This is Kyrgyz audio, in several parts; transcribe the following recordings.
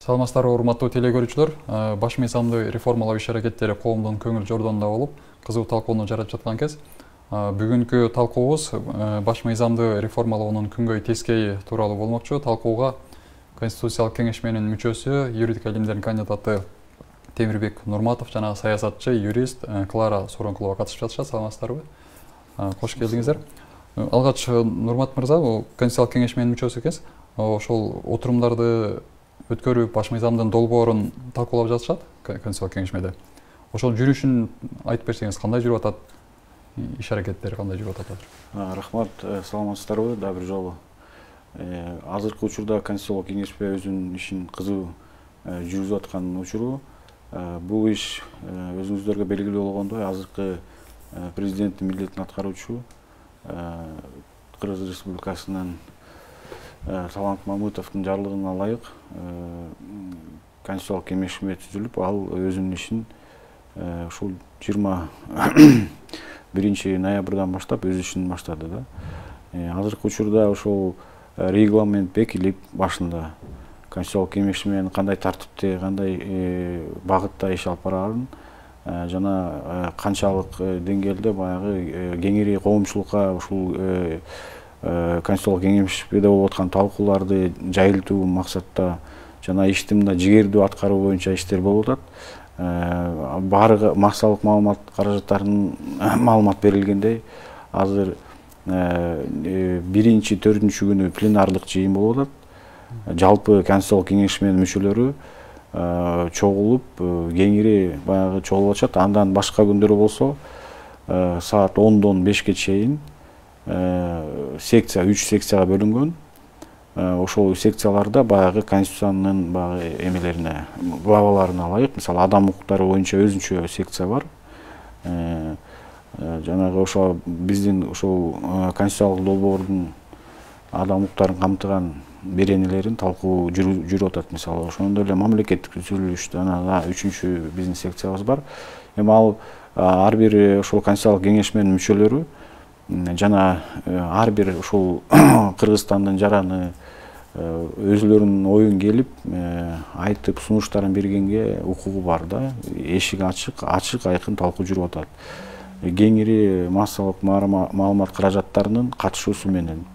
Саламатсыздарбы, урматтуу теле көрүүчүлөр. Баш мыйзамды реформалоо иш-аракеттери коомдун көңүл жордонунда болуп, кызуу талкууну жаратып жаткан кез. Бүгүнкү талкуубуз баш мыйзамды реформалоонун күнгөй тескейи тууралуу болмокчу. Талкууга Конституциялык кеңешменин мүчөсү, юридика илимдеринин кандидаты Темирбек Нурматов жана саясатчы, юрист Клара Соронкулова катышып жатышат. Саламатсыздарбы? Кош келдиңиздер. Алгач Нурмат мырза, Конституциялык кеңешменин мүчөсү экенсиз. Ошол отурумдарды өткөрүп, баш мыйзамдын долбоорун талкуулап жатышат Конституциялык кеңешмеде. Ошол жүрүшүн айтып берсеңиз, кандай жүрүп атат? Иш-аракеттери кандай жүрүп атат азыр? Рахмат, саламатсыздарбы? Да бир жолу. Азыркы учурда Конституциялык кеңешме өзүнүн ишин кызуу жүргүзүп аткан учуру. Бул иш өзүңүздөргө белгилүү болгондой, азыркы президенттин милдетин аткаруучу Кыргыз Республикасынын Талант Мамытовдун жарлыгына ылайык Конституциялык кеңешме түзүлүп, ал өзүнүн ишин ушул 21 ноябрдан баштап өз ишин баштады да. Азыркы учурда ошол регламент бекилип, башында Конституциялык кеңешменин кандай тартипте, кандай багытта иш алып барарын жана канчалык деңгээлде баягы кеңири коомчулукка ушул Конституциялык кеңешмеде болуп аткан талкууларды жайылтуу максатта жана ишти мына жигердүү аткаруу боюнча иштер болуп атат. Баары максалык маалымат каражаттарынын маалымат берилгендей, азыр 1-4 күнү пленардык жыйын болуп атат. Жалпы Конституциялык кеңешменин мүчөлөрү чогулуп, кеңири баягы чогулуп атышат. Андан башка күндөрү болсо саат 10-дон 5ке чейин секция 3 секцияга бөлүнгөн. Ошол секцияларда баягы конституциянын баягы эмелерине, главаларына ылайык, мисалы адам укуктары боюнча өзүнчө секция бар. Жанагы ошо биздин ушул конституциялык долбоордун адам укуктарын камтыган беренелерин талкуу жүрүп атат. Мисалы, ошондой эле мамлекеттик түзүлүш жана 3-үчү биздин секциябыз бар. Эми ал ар бир ошол конституциялык кеңешменин мүчөлөрү жана ар бир ушул Кыргызстандын жараны өзүлөрүнүн оюн келип айтып, сунуштарын бергенге укугу бар да. Эшик ачык айкын талкуу жүрүп атат. Кеңири массалык маалымат каражаттарынын катышуусу менен.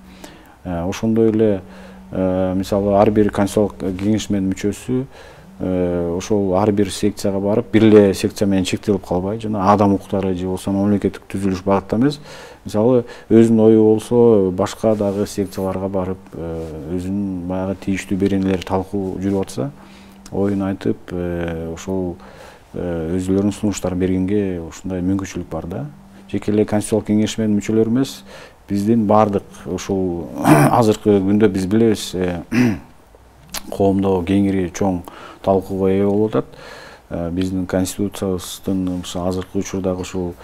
Ошондой эле мисалы ар бир Конституциялык кеңешменин мүчөсү ошол ар бир секцияга барып, бир эле секция менен чектелип калбай, жана адам укуктары же болбосо мамлекеттик түзүлүш багытта эмес, мисалы өзүнүн ою болсо башка дагы секцияларга барып, өзүнүн баягы тийиштүү беренелери талкуу жүрүп атса, оюн айтып, ошол өзүлөрүнүн сунуштарын бергенге ушундай мүмкүнчүлүк бар да. Жеке эле Конституциялык кеңешменин мүчөлөрү эмес, биздин бардык ушул азыркы күндө биз билебиз, коомдо кеңири чоң талкууга ээ болуп атат. Биздин конституциябыздын азыркы учурдагы ушул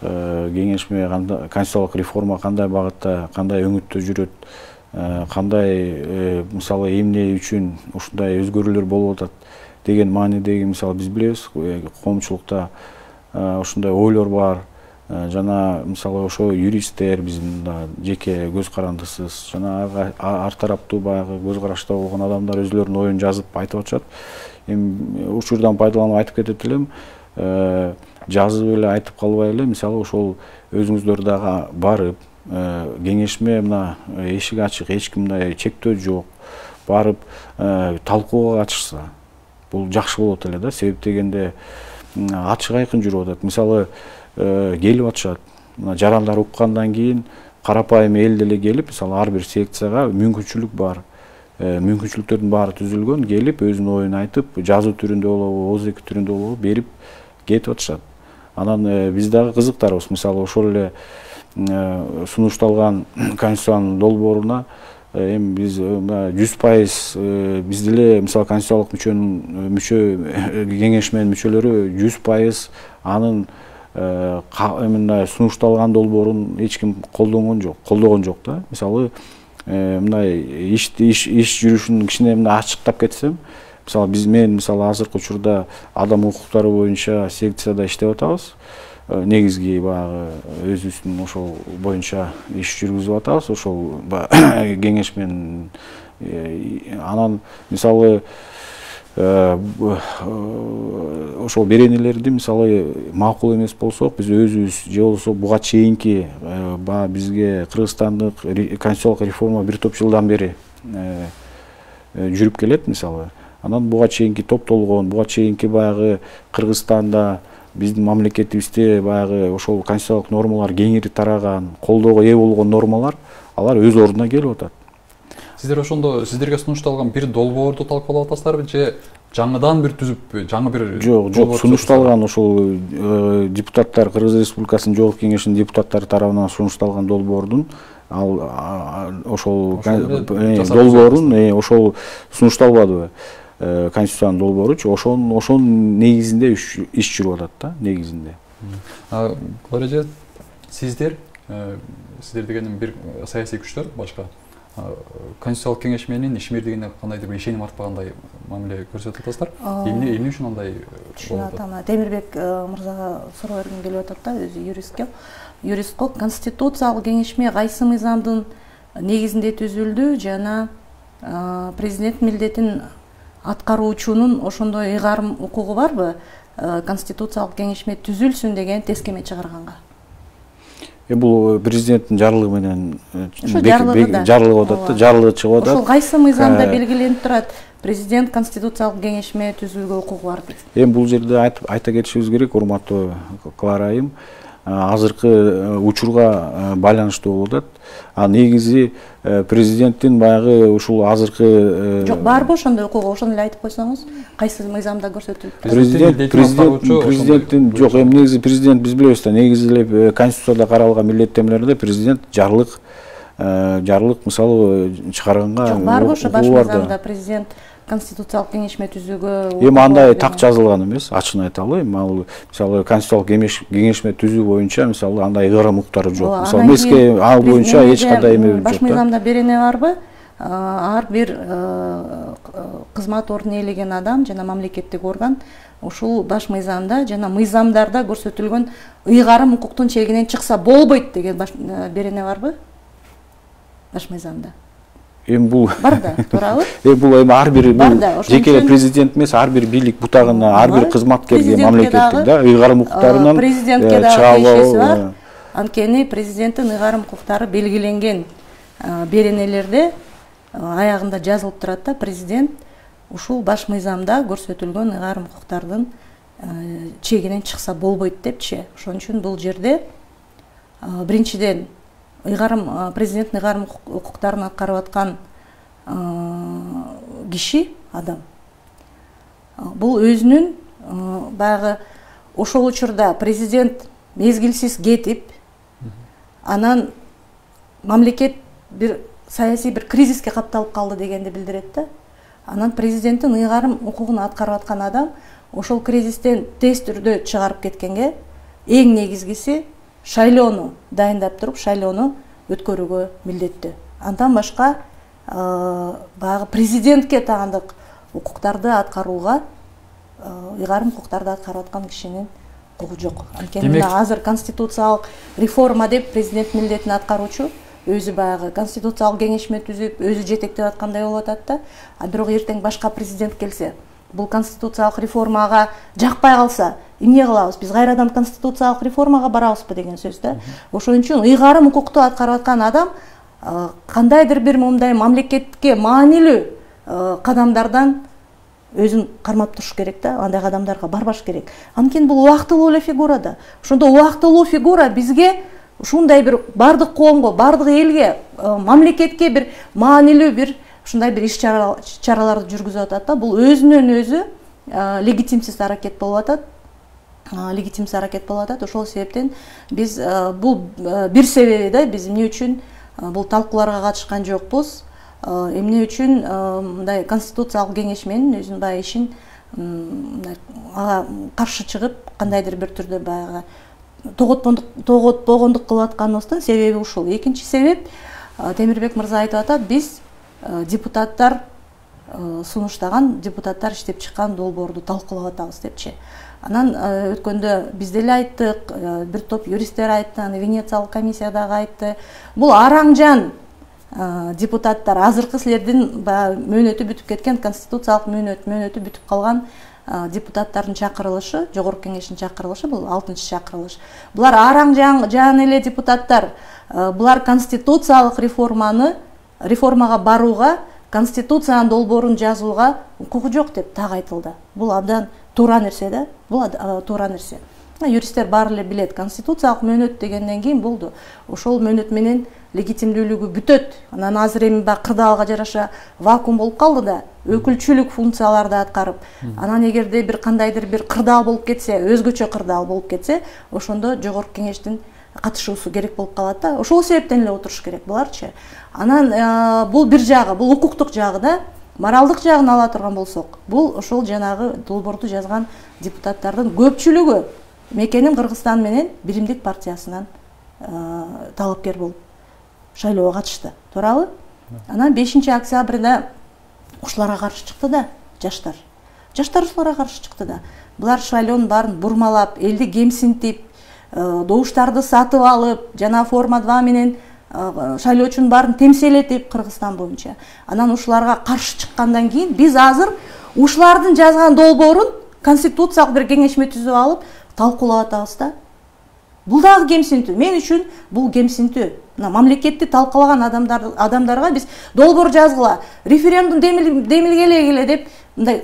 кеңешме, конституциялык реформа кандай багытта, кандай өңүттө жүрөт, кандай мисалы эмне үчүн ушундай өзгөрүүлөр болуп атат деген маанидеги, мисалы биз билебиз, коомчулукта ушундай ойлор бар. Жана мисалы ошо юристтер, биздин жеке көз карандысыз жана ар тараптуу баягы көз карашта болгон адамдар өзүлөрүнүн оюн жазып айтып атышат. Эми учурдан пайдаланып айтып кетет элем, жазып эле айтып калбай эле, мисалы ошол өзүңүздөр дагы барып, кеңешме мына эшик ачык, эч кимде чектөө жок, барып талкууга катышса, бул жакшы болот эле да. Себеп дегенде ачык айкын жүрүп атат. Мисалы келип атышат. Мына жарандар уккандан кийин карапайым эл деле келип, мисалы ар бир секцияга мүмкүнчүлүк бар. Мүмкүнчүлүктөрдүн баары түзүлгөн, келип өзүнүн оюн айтып, жазуу түрүндө болобу, ооз эки түрүндө болобу берип кетип атышат. Анан биз дагы кызыктарбыз. Мисалы ошол эле сунушталган конституциянын долбооруна эми биз 100% биз деле мисалы конституциялык кеңешменин мүчөлөрү 100% анын мындай сунушталган долбоорун эч ким колдогон жок да. Мисалы мындай иш жүрүшүн кичине мындай ачыктап кетсем, мисалы мен мисалы азыркы учурда адам укуктары боюнча секцияда иштеп атабыз. Негизги баягы өзүбүздүн ошол боюнча иш жүргүзүп атабыз. Ошол кеңешменин анан мисалы ошол беренелерди мисалы макул эмес болсок биз өзүбүз же болбосо буга чейинки баягы бизге кыргызстандык конституциялык реформа бир топ жылдан бери жүрүп келет мисалы. Анан буга чейинки топтолгон, буга чейинки баягы Кыргызстанда биздин мамлекетибизде баягы ошол конституциялык нормалар кеңири тараган, колдоого ээ болгон нормалар алар өз ордуна келип атат. Сиздер ошондо сиздерге сунушталган бир долбоорду талкуулап атасыздарбы же жаңыдан бир түзүп, жаңы бир жок, сунушталган ошол депутаттар, Кыргыз Республикасынын Жогорку Кеңешинин депутаттары тарабынан сунушталган долбоордун ошол долбоорун ошол сунушталбадыбы? Конституциянын долбооручу ошонун негизинде иш жүрүп атат да, негизинде. Глория эже, сиздер дегеним бир саясий күчтөр башка Конституциялык кеңеш менен ишмердигине кандайдыр бир ишеним артпагандай мамиле көрсөтүп атасыздар. Эмне үчүн андай болуп атат? Темирбек мырзага суроо бергим келип атат да, өзү юристко. Конституциялык кеңешме кайсы мыйзамдын негизинде түзүлдү жана президент милдетин аткаруучунун ошондой ыйгарым укугу барбы конституциялык кеңешме түзүлсүн деген тескеме чыгарганга? Бул президенттин жарлыгы менен жарлыгы атат да, жарлыгы чыгып атат. Ошол кайсы мыйзамда белгиленип турат? Президент конституциялык кеңешме түзүүгө укугу бар дейт. Бул жерде айта кетишибиз керек, урматтуу Клара айым, азыркы учурга байланыштуу болуп атат. Негизи президенттин баягы ушул азыркы жок, барбы ошондой укугу? Ошону эле айтып койсоңуз, кайсы мыйзамда көрсөтүлүп? Президенттин жок, негизи президент биз билебиз да, негизи эле Конституцияда каралган милдеттенмелерде президент жарлык мисалы чыгарганга жок, барбы ошо баш мыйзамда президент конституциялык кеңешме түзүүгө? Андай так жазылган эмес, ачыгын айталы. Мисалы конституциялык кеңешме түзүү боюнча мисалы андай ыйгарым укуктары жок. Мисалы миске ал боюнча эч кандай эме жок. Баш мыйзамда берене барбы? Ар бир кызмат ордун ээлеген адам жана мамлекеттик орган ушул баш мыйзамда жана мыйзамдарда көрсөтүлгөн ыйгарым укуктун чегинен чыкса болбойт деген берене барбы? Баш мыйзамда. Бул бар да, туурабы? Бул ар бир жеке президент эмес, ар бир бийлик бутагына, ар бир кызматкерге мамлекеттик да ыйгарым укуктарынан президентке дагы ишеси бар. Анткени президенттин ыйгарым укуктары белгиленген беренелерде аягында жазылып турат да, президент ушул баш мыйзамда көрсөтүлгөн ыйгарым укуктардын чегинен чыкса болбойт депчи. Ошон үчүн бул жерде биринчиден президенттин ыйгарым укуктарын аткарып аткан киши, адам, бул өзүнүн баягы ошол учурда президент мезгилсиз кетип, анан мамлекет бир саясий бир кризиске капталып калды дегенди билдирет да. Анан президенттин ыйгарым укугун аткарып аткан адам ошол кризистен тез түрдө чыгарып кеткенге эң негизгиси шайлоону дайындап туруп, шайлоону өткөрүүгө милдеттүү. Андан башка баягы президентке таандык укуктарды аткарууга, ыйгарым укуктарды аткарып аткан кишинин укугу жок. Анткени азыр конституциялык реформа деп президент милдетин аткаруучу өзү баягы конституциялык кеңешме түзүп, өзү жетектеп аткандай болуп атат да. Бирок эртең башка президент келсе, бул конституциялык реформага жакпай калса, эмне кылабыз? Биз кайрадан конституциялык реформага барабызбы деген сөз да. Ошон үчүн ыйгарым укукту аткарып аткан адам кандайдыр бир мындай мамлекетке маанилүү кадамдардан өзүн кармап туруш керек да, андай кадамдарга барбаш керек. Анткени бул убактылуу эле фигура да. Ошондо убактылуу фигура бизге ушундай бир бардык коомго, бардык элге, мамлекетке бир маанилүү бир ушундай бир иш чараларды жүргүзүп атат да. Бул өзүнөн өзү легитимсиз аракет болуп атат. Ошол себептен биз бул бир себеби да, биз эмне үчүн бул талкууларга катышкан жокпуз, эмне үчүн мындай конституциялык кеңешменин өзүнүн баягы ишин ага каршы чыгып, кандайдыр бир түрдө баягы тоготпогондук кылып атканыбыздын себеби ушул. Экинчи себеп, Темирбек мырза айтып атат, биз депутаттар сунуштаган, депутаттар иштеп чыккан долбоорду талкуулап атабыз депчи. Анан өткөндө биз деле айттык, бир топ юристтер айтты, аны Венециялык комиссия дагы айтты. Бул араң жан депутаттар, азыркы силердин баягы мөөнөтү бүтүп кеткен, конституциялык мөөнөтү бүтүп калган депутаттардын чакырылышы, жогорку кеңештин чакырылышы, бул 6-чы чакырылыш. Булар араң жан эле депутаттар. Булар конституциялык реформага барууга, конституциянын долбоорун жазууга укугу жок деп так айтылды. Бул абдан туура нерсе да. Бул туура нерсе. Юристтер баары эле билет. Конституциялык мөөнөт дегенден кийин болду. Ошол мөөнөт менен легитимдүүлүгү бүтөт. Анан азыр эми кырдаалга жараша вакуум болуп калды да, өкүлчүлүк функцияларды аткарып, анан эгерде бир кандайдыр бир кырдаал болуп кетсе, өзгөчө кырдаал болуп кетсе, ошондо жогорку кеңештин катышуусу керек болуп калат да. Ошол себептен эле отуруш керек буларчы. Анан бул бир жагы, бул укуктук жагы да. Моралдык жагын ала турган болсок, бул ошол жанагы долбоорду жазган депутаттардын көпчүлүгү мекенин Кыргызстан менен Биримдик партиясынан талапкер болуп шайлоого катышты. Туурабы? Анан 5-октябрда ушуларга каршы чыкты да жаштар. Жаштар ушуларга каршы чыкты да. Булар шайлоонун баарын бурмалап, элди кемсинтип, добуштарды сатып алып, жана форма 2 менен шайлоочунун баарын темселетип Кыргызстан боюнча. Анан ушуларга каршы чыккандан кийин биз азыр ушулардын жазган долбоорун конституциялык бир кеңешме түзүп алып талкуулап атабыз да. Бул дагы кемсинтүү. Мен үчүн бул кемсинтүү. Мамлекетти талкалаган адамдарга биз долбоор жазгыла, референдум демилгелегиле деп мындай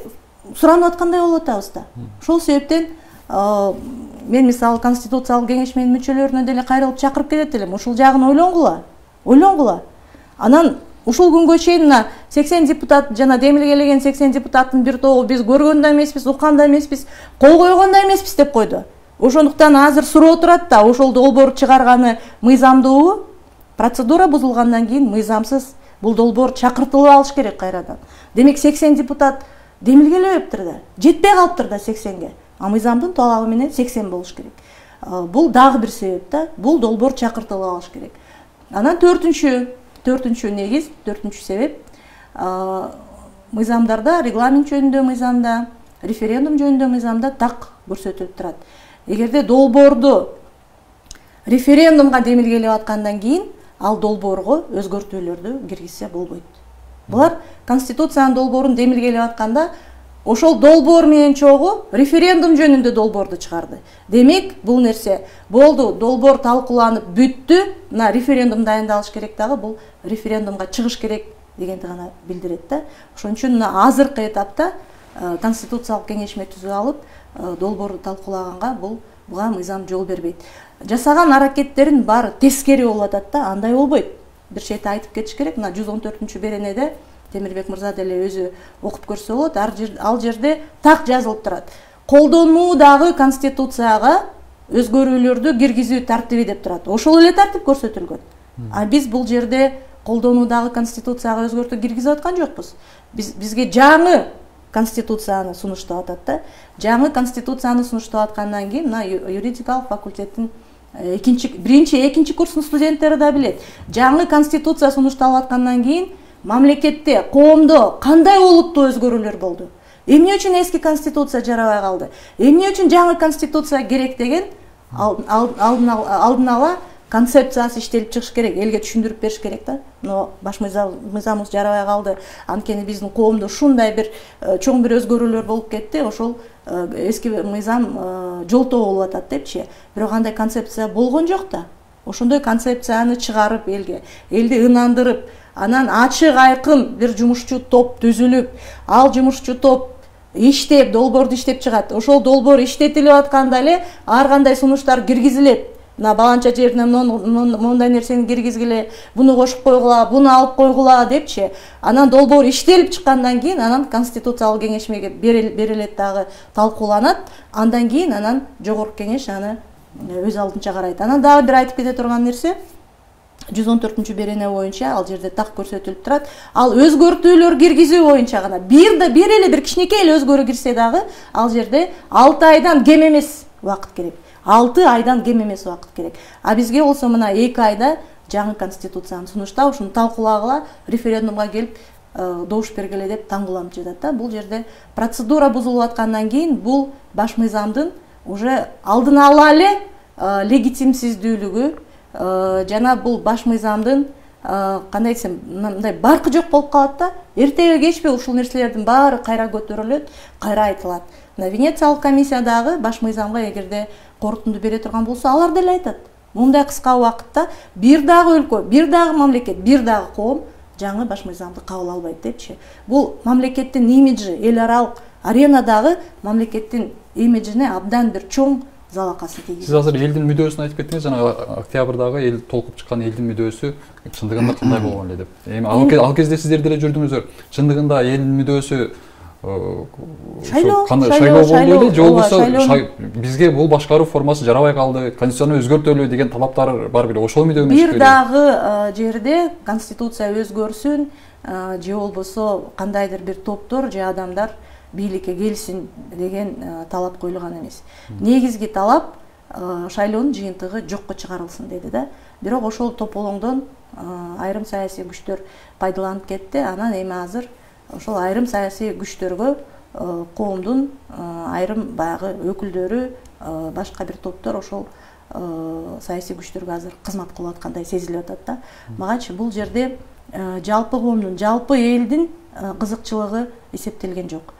суранып аткандай болуп атабыз да. Ошол себептен мен мисалы конституциялык кеңешменин мүчөлөрүнө деле кайрылып чакырып кетет элем. Ушул жагын ойлонгула. Анан ушул күнгө чейин 80 депутат жана демилгелеген 80 депутаттын бир тобу биз көргөн да эмеспиз, уккан да эмеспиз, кол койгон да эмеспиз деп койду. Ошондуктан азыр суроо турат да, ошол долбоор чыгарганы мыйзамдуу, процедура бузулгандан кийин мыйзамсыз бул долбоор чакыртылып алыш керек кайрадан. Демек 80 депутат демилгелебептир да, жетпей калыптыр да 80ге. Мыйзамдын талабы менен 80 болуш керек. Бул дагы бир себеп да, бул долбоор чакыртылып алыш керек. Анан төртүнчү негиз, төртүнчү себеп мыйзамдарда, регламент жөнүндө мыйзамда, референдум жөнүндө мыйзамда так көрсөтүлүп турат. Эгерде долбоорду референдумга демилгелеп аткандан кийин ал долбоорго өзгөртүүлөрдү киргизсе болбойт. Булар конституциянын долбоорун демилгелеп атканда ошол долбоор менен чогуу референдум жөнүндө долбоорду чыгарды. Демек, бул нерсе болду, долбоор талкууланып бүттү, мына референдум дайындалыш керек дагы, бул референдумга чыгыш керек дегенди гана билдирет да. Ошон үчүн азыркы этапта конституциялык кеңешме түзүп алып, долбоорду талкуулаганга буга мыйзам жол бербейт. Жасаган аракеттерин баары тескери болуп атат да, андай болбойт. Бир чети айтып кетиш керек. Мына 114 беренеде Темирбек мырза деле өзү окуп көрсө болот. Ал жерде так жазылып турат. Колдонуудагы конституцияга өзгөрүүлөрдү киргизүү тартиби деп турат. Ошол эле тартип көрсөтүлгөн. Биз бул жерде колдонуудагы конституцияга өзгөртүү киргизип аткан жокпуз. Бизге жаңы конституцияны сунуштап атат да. Жаңы конституцияны сунуштап аткандан кийин мына юридикалык факультеттин биринчи, экинчи курстун студенттери да билет. Жаңы конституция сунушталып аткандан кийин мамлекетте, коомдо кандай олуттуу өзгөрүүлөр болду? Эмне үчүн эски конституция жарабай калды? Эмне үчүн жаңы конституция керек деген алдын ала концепциясы иштелип чыгыш керек, элге түшүндүрүп бериш керек да. Но баш мыйзамыбыз жарабай калды. Анткени биздин коомдо ушундай бир чоң бир өзгөрүүлөр болуп кетти. Ошол эски мыйзам жолтоо болуп атат депчи. Бирок андай концепция болгон жок да. Ошондой концепцияны чыгарып элди ынандырып, анан ачык айкын бир жумушчу топ түзүлүп, ал жумушчу топ иштеп, долбоорду иштеп чыгат. Ошол долбоор иштетилип атканда эле ар кандай сунуштар киргизилет. Мына баланча жеринен мондай нерсени киргизгиле, буну кошуп койгула, буну алып койгула депчи. Анан долбоор иштелип чыккандан кийин анан конституциялык кеңешмеге берилет дагы, талкууланат. Андан кийин анан жогорку кеңеш аны өз алдынча карайт. Анан дагы бир айтып кете турган нерсе, 114 берене боюнча ал жерде так көрсөтүлүп турат. Ал өзгөртүүлөр киргизүү боюнча гана бир эле бир кичинекей эле өзгөрүү кирсе дагы ал жерде 6 айдан кем эмес убакыт керек. 6 айдан кем эмес убакыт керек. А бизге болсо мына 2 айда жаңы конституцияны сунуштап, ушуну талкуулагыла, референдумга келип добуш бергиле деп таңгуланып жатат да. Бул жерде процедура бузулуп аткандан кийин бул баш мыйзамдын уже алдын ала эле легитимсиздүүлүгү жана бул баш мыйзамдын кандай десем, мындай баркы жок болуп калат да. Эртеби кечпи ушул нерселердин баары кайра көтөрүлөт, кайра айтылат. Венециялык комиссиядагы баш мыйзамга эгерде корутунду бере турган болсо, алар деле айтат. Мындай кыска убакытта бир дагы өлкө, бир дагы мамлекет, бир дагы коом жаңы баш мыйзамды кабыл албайт депчи. Бул мамлекеттин имиджи, эл аралык аренадагы мамлекеттин имиджине абдан бир чоң залакасын тийгизет. Сиз азыр элдин мүдөөсүн айтып кеттиңиз, жана октябрдагы эл толкуп чыккан элдин мүдөөсү чындыгында кандай болгон эле деп. Эми ал кезде сиздер деле жүрдүңүздөр. Чындыгында элдин мүдөөсү шайлоо болду эле, же болбосо бизге бул башкаруу формасы жарабай калды, конституцияны өзгөртөлү деген талаптар бар беле? Ошол мүдөө эмес беле? Бир дагы жерде конституция өзгөрсүн, же болбосо кандайдыр бир топтор же адамдар бийликке келсин деген талап коюлган эмес. Негизги талап шайлоонун жыйынтыгы жокко чыгарылсын деди да. Бирок ошол тополоңдон айрым саясий күчтөр пайдаланып кетти. Анан эми азыр ошол айрым саясий күчтөргө коомдун айрым баягы өкүлдөрү, башка бир топтор ошол саясий күчтөргө азыр кызмат кылып аткандай сезилип атат да. Магачы бул жерде жалпы коомдун, жалпы элдин кызыкчылыгы эсептелген жок.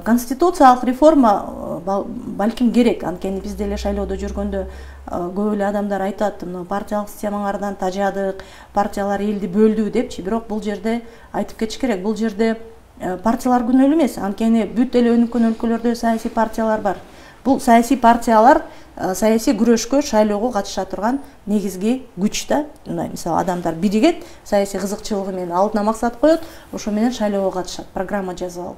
Конституциялык реформа балким керек. Анткени биз деле шайлоодо жүргөндө көп эле адамдар айтат, партиялык системаңардан тажадык, партиялар элди бөлдү депчи. Бирок бул жерде айтып кетиш керек, бул жерде партиялар күнөөлүү эмес. Анткени бүт эле өнүккөн өлкөлөрдө саясий партиялар бар. Бул саясий партиялар саясий күрөшкө, шайлоого катыша турган негизги күч да. Мисалы адамдар биригет, саясий кызыкчылыгы менен алдына максат коет, ошо менен шайлоого катышат, программа жазып алып.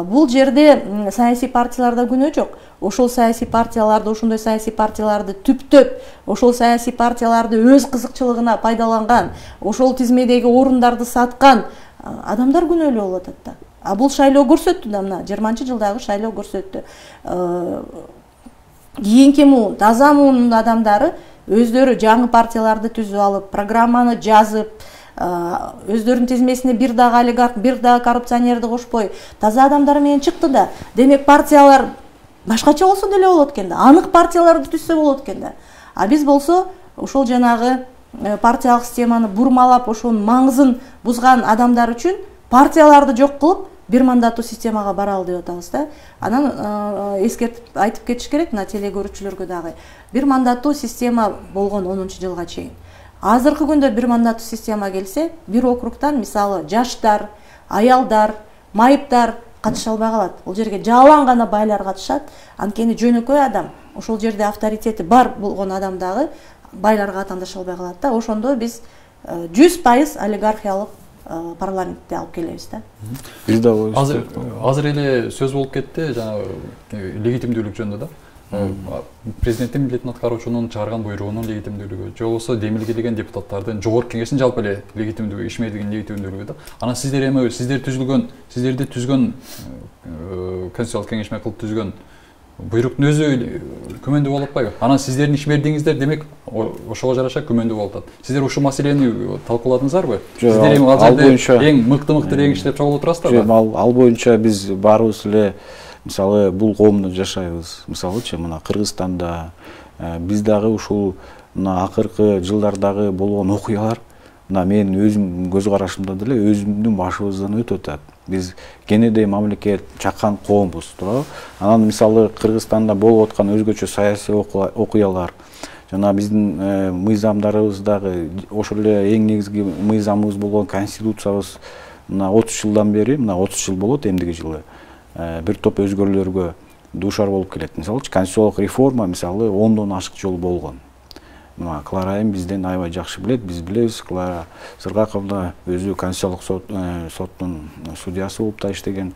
Бул жерде саясий партияларда күнөө жок. Ошол саясий партияларды, ошондой саясий партияларды түптөп, ошол саясий партияларды өз кызыкчылыгына пайдаланган, ошол тизмедеги орундарды саткан адамдар күнөөлүү болуп атат да. Бул шайлоо көрсөттү да, мына 20-жылдагы шайлоо көрсөттү. Кийинки муун, таза муунун адамдары өздөрү жаңы партияларды түзүп алып, программаны жазып, өздөрүнүн тизмесине бир дагы олигарх, бир дагы коррупционерди кошпой, таза адамдар менен чыкты да. Демек партиялар башкача болсо деле болот экен да. Анык партияларды түзсө болот экен да. Биз болсо ошол жанагы партиялык системаны бурмалап, ошонун маңызын бузган адамдар үчүн партияларды жок кылып, бир мандаттуу системага баралы деп атабыз да. Анан эскертип айтып кетиш керек мына телекөрүүчүлөргө дагы. Бир мандаттуу система болгон 10-жылга чейин. Азыркы күндө бир мандаттуу система келсе, бир округтан мисалы жаштар, аялдар, майыптар катыша албай калат. Бул жерге жалаң гана байлар катышат. Анткени жөнөкөй адам, ошол жерде авторитети бар болгон адам дагы байларга атандаша албай калат да. Ошондо биз 100% олигархиялык парламентти алып келебиз да. Биз да азыр эле сөз болуп кетти жана легитимдүүлүк жөнүндө да. Президенттин милдетин аткаруучунун чыгарган буйругунун легитимдүүлүгү, же болбосо демилгелеген депутаттардын жогорку кеңештин жалпы эле легитимдүүлүгү, ишмердигин легитимдүүлүгү да. Анан сиздер эми сиздерди түзгөн конституциялык кеңеш менен кылып түзгөн буйруктун өзү күмөндүү болуп атпайбы? Анан сиздердин ишмердигиңиздер демек ошого жараша күмөндүү болуп атат. Сиздер ушул маселени талкууладыңыздарбы? Сиздер эми ал жерде эң мыкты реңк иштеп чогулуп турасыздарбы? Ал боюнча биз баарыбыз эле мисалы бул коомдо жашайбыз. Мисалычы мына Кыргызстанда биз дагы ушул мына акыркы жылдардагы болгон окуялар мына менин өзүм көз карашымда деле өзүмдүн башыбыздан өтүп атат. Биз кенедей мамлекет, чакан коомбуз, туурабы? Анан мисалы Кыргызстанда болуп аткан өзгөчө саясий окуялар жана биздин мыйзамдарыбыздагы ошол эле эң негизги мыйзамыбыз болгон конституциябыз мына 30 жылдан бери, мына 30 жыл болот эмдиги жылы бир топ өзгөрүүлөргө дуушар болуп келет. Мисалы конституциялык реформа мисалы 10дон ашык жолу болгон. Мына Клара айым бизден аябай жакшы билет, биз билебиз. Клара Сыргаковна өзү конституциялык соттун судьясы болуп да иштеген.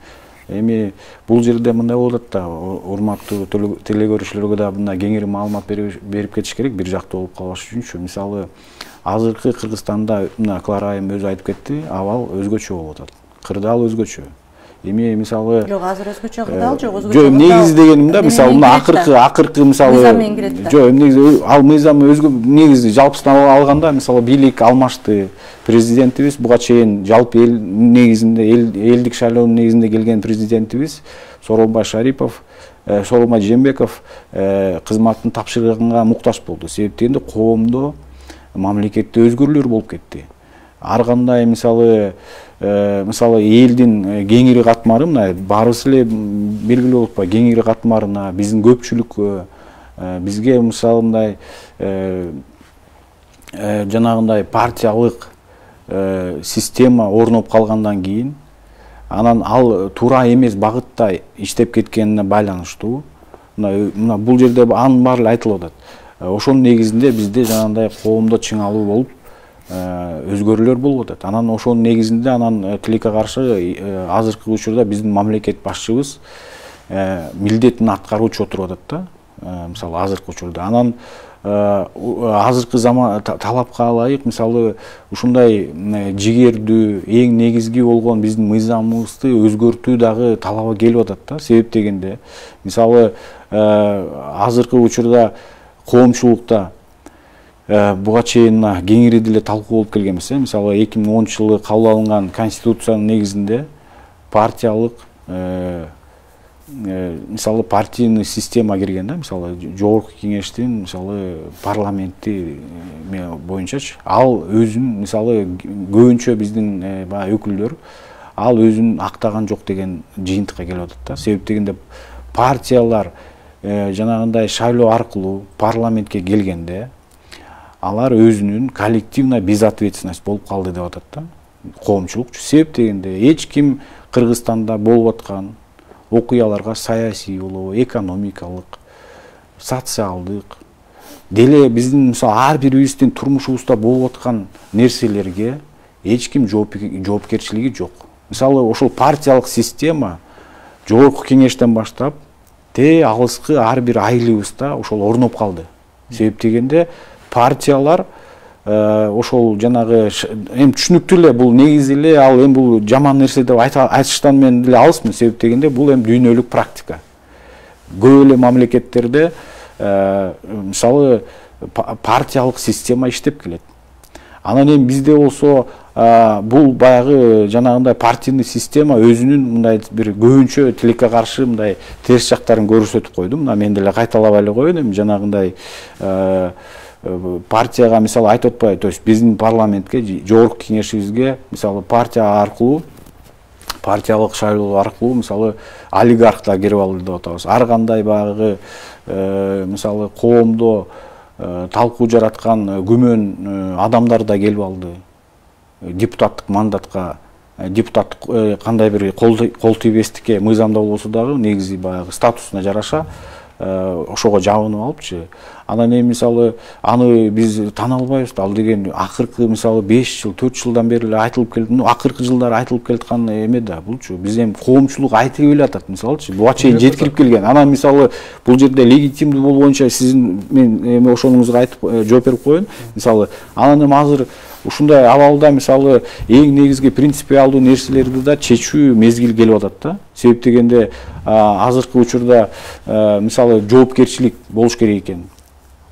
Эми бул жерде мындай болот да, урматтуу телекөрүүчүлөргө да мына кеңири маалымат берип кетиш керек, бир жактуу болуп калбаш үчүнчү. Мисалы азыркы Кыргызстанда мына Клара айым өзү айтып кетти, абал өзгөчө болуп атат. Кырдаал өзгөчө. Эми мисалы жок, азыр өзгөчө кырдаал жок, өзгөчө. Жок, негизи дегеним да, мисалы мына акыркы мисалы жок, негизи ал мыйзам өзгө негизи жалпысынан алганда мисалы бийлик алмашты. Президентибиз буга чейин жалпы эл негизинде элдик шайлоонун негизинде келген президентибиз Сооронбай Шарипов, Сооронбай Жээнбеков кызматтын тапшырыгына муктаж болду. Себеби дегенде коомдо мамлекетте өзгөрүүлөр болуп кетти. Ар кандай мисалы элдин кеңири катмары мына баарыбыз эле белгилүү болуп атпайбы, кеңири катмарына биздин көпчүлүккө бизге мисалы мындай жанагындай партиялык система орноп калгандан кийин анан ал туура эмес багытта иштеп кеткенине байланыштуу мына бул жерде анын баары эле айтылып атат. Ошонун негизинде бизде жанагындай коомдо чыңалуу болуп өзгөрүүлөр болуп атат. Анан ошонун негизинде анан тилекке каршы азыркы учурда биздин мамлекет башчыбыз милдетин аткаруучу отуруп атат да. Мисалы азыркы учурда анан азыркы заман талапка ылайык мисалы ушундай жигердүү эң негизги болгон биздин мыйзамыбызды өзгөртүү дагы талабы келип атат да. Себеп дегенде мисалы азыркы учурда коомчулукта буга чейин кеңири деле талкуу болуп келген эмес. Мисалы 2010-жылы кабыл алынган конституциянын негизинде партиялык мисалы партийный система кирген да. Мисалы жогорку кеңештин мисалы парламенти боюнчачы ал өзүн мисалы көбүнчө биздин баягы өкүлдөр ал өзүн актаган жок деген жыйынтыкка келип атат да. Себеп дегенде партиялар жанагындай шайлоо аркылуу парламентке келгенде алар өзүнүн коллективная безответственность болуп калды деп атат да коомчулук. Себеп дегенде эч ким Кыргызстанда болуп аткан окуяларга саясий болобу, экономикалык, социалдык деле биздин мисалы ар бирибиздин турмушубузда болуп аткан нерселерге эч ким жоопкерчилиги жок. Мисалы ошол партиялык система жогорку кеңештен баштап алыскы ар бир айылыбызда ошол орноп калды. Себеп дегенде партиялар ошол жанагы эми түшүнүктүү эле бул негизи эле ал эми бул жаман нерсе деп айтыштан мен деле алысмын. Себеп дегенде бул эми дүйнөлүк практика. Көп эле мамлекеттерде мисалы партиялык система иштеп келет. Анан эми бизде болсо бул баягы жанагындай партийный система өзүнүн мындай бир көбүнчө тилекке каршы мындай терс жактарын көрсөтүп койду. Мына мен деле кайталабай эле коеюн эми жанагындай партияга мисалы айтып атпайбы, то есть биздин парламентке жогорку кеңешибизге мисалы партия аркылуу партиялык шайлоо аркылуу мисалы олигархтар кирип алды деп атабыз. Ар кандай баягы мисалы коомдо талкуу жараткан күмөн адамдар да келип алды. Депутаттык мандатка депутаттык кандай бир кол тийбестикке мыйзамда болбосо дагы негизи баягы статусуна жараша ошого жабынып алыпчы. Анан эми мисалы аны биз тана албайбыз. Ал деген акыркы мисалы 5 жыл, 4 жылдан бери эле айтылып келди. Акыркы жылдары айтылып келаткан эме да булчу. Биз эми коомчулук айтып эле атат мисалычы. Буга чейин жеткирип келген. Анан мисалы бул жерде легитимдүү болуу боюнча сиздин мен эми ошонуңузга айтып жооп берип коеюн. Мисалы анан эми азыр ушундай абалда мисалы эң негизги принципиалдуу нерселерди да чечүү мезгил келип атат да. Себеп дегенде азыркы учурда мисалы жоопкерчилик болуш керек экен.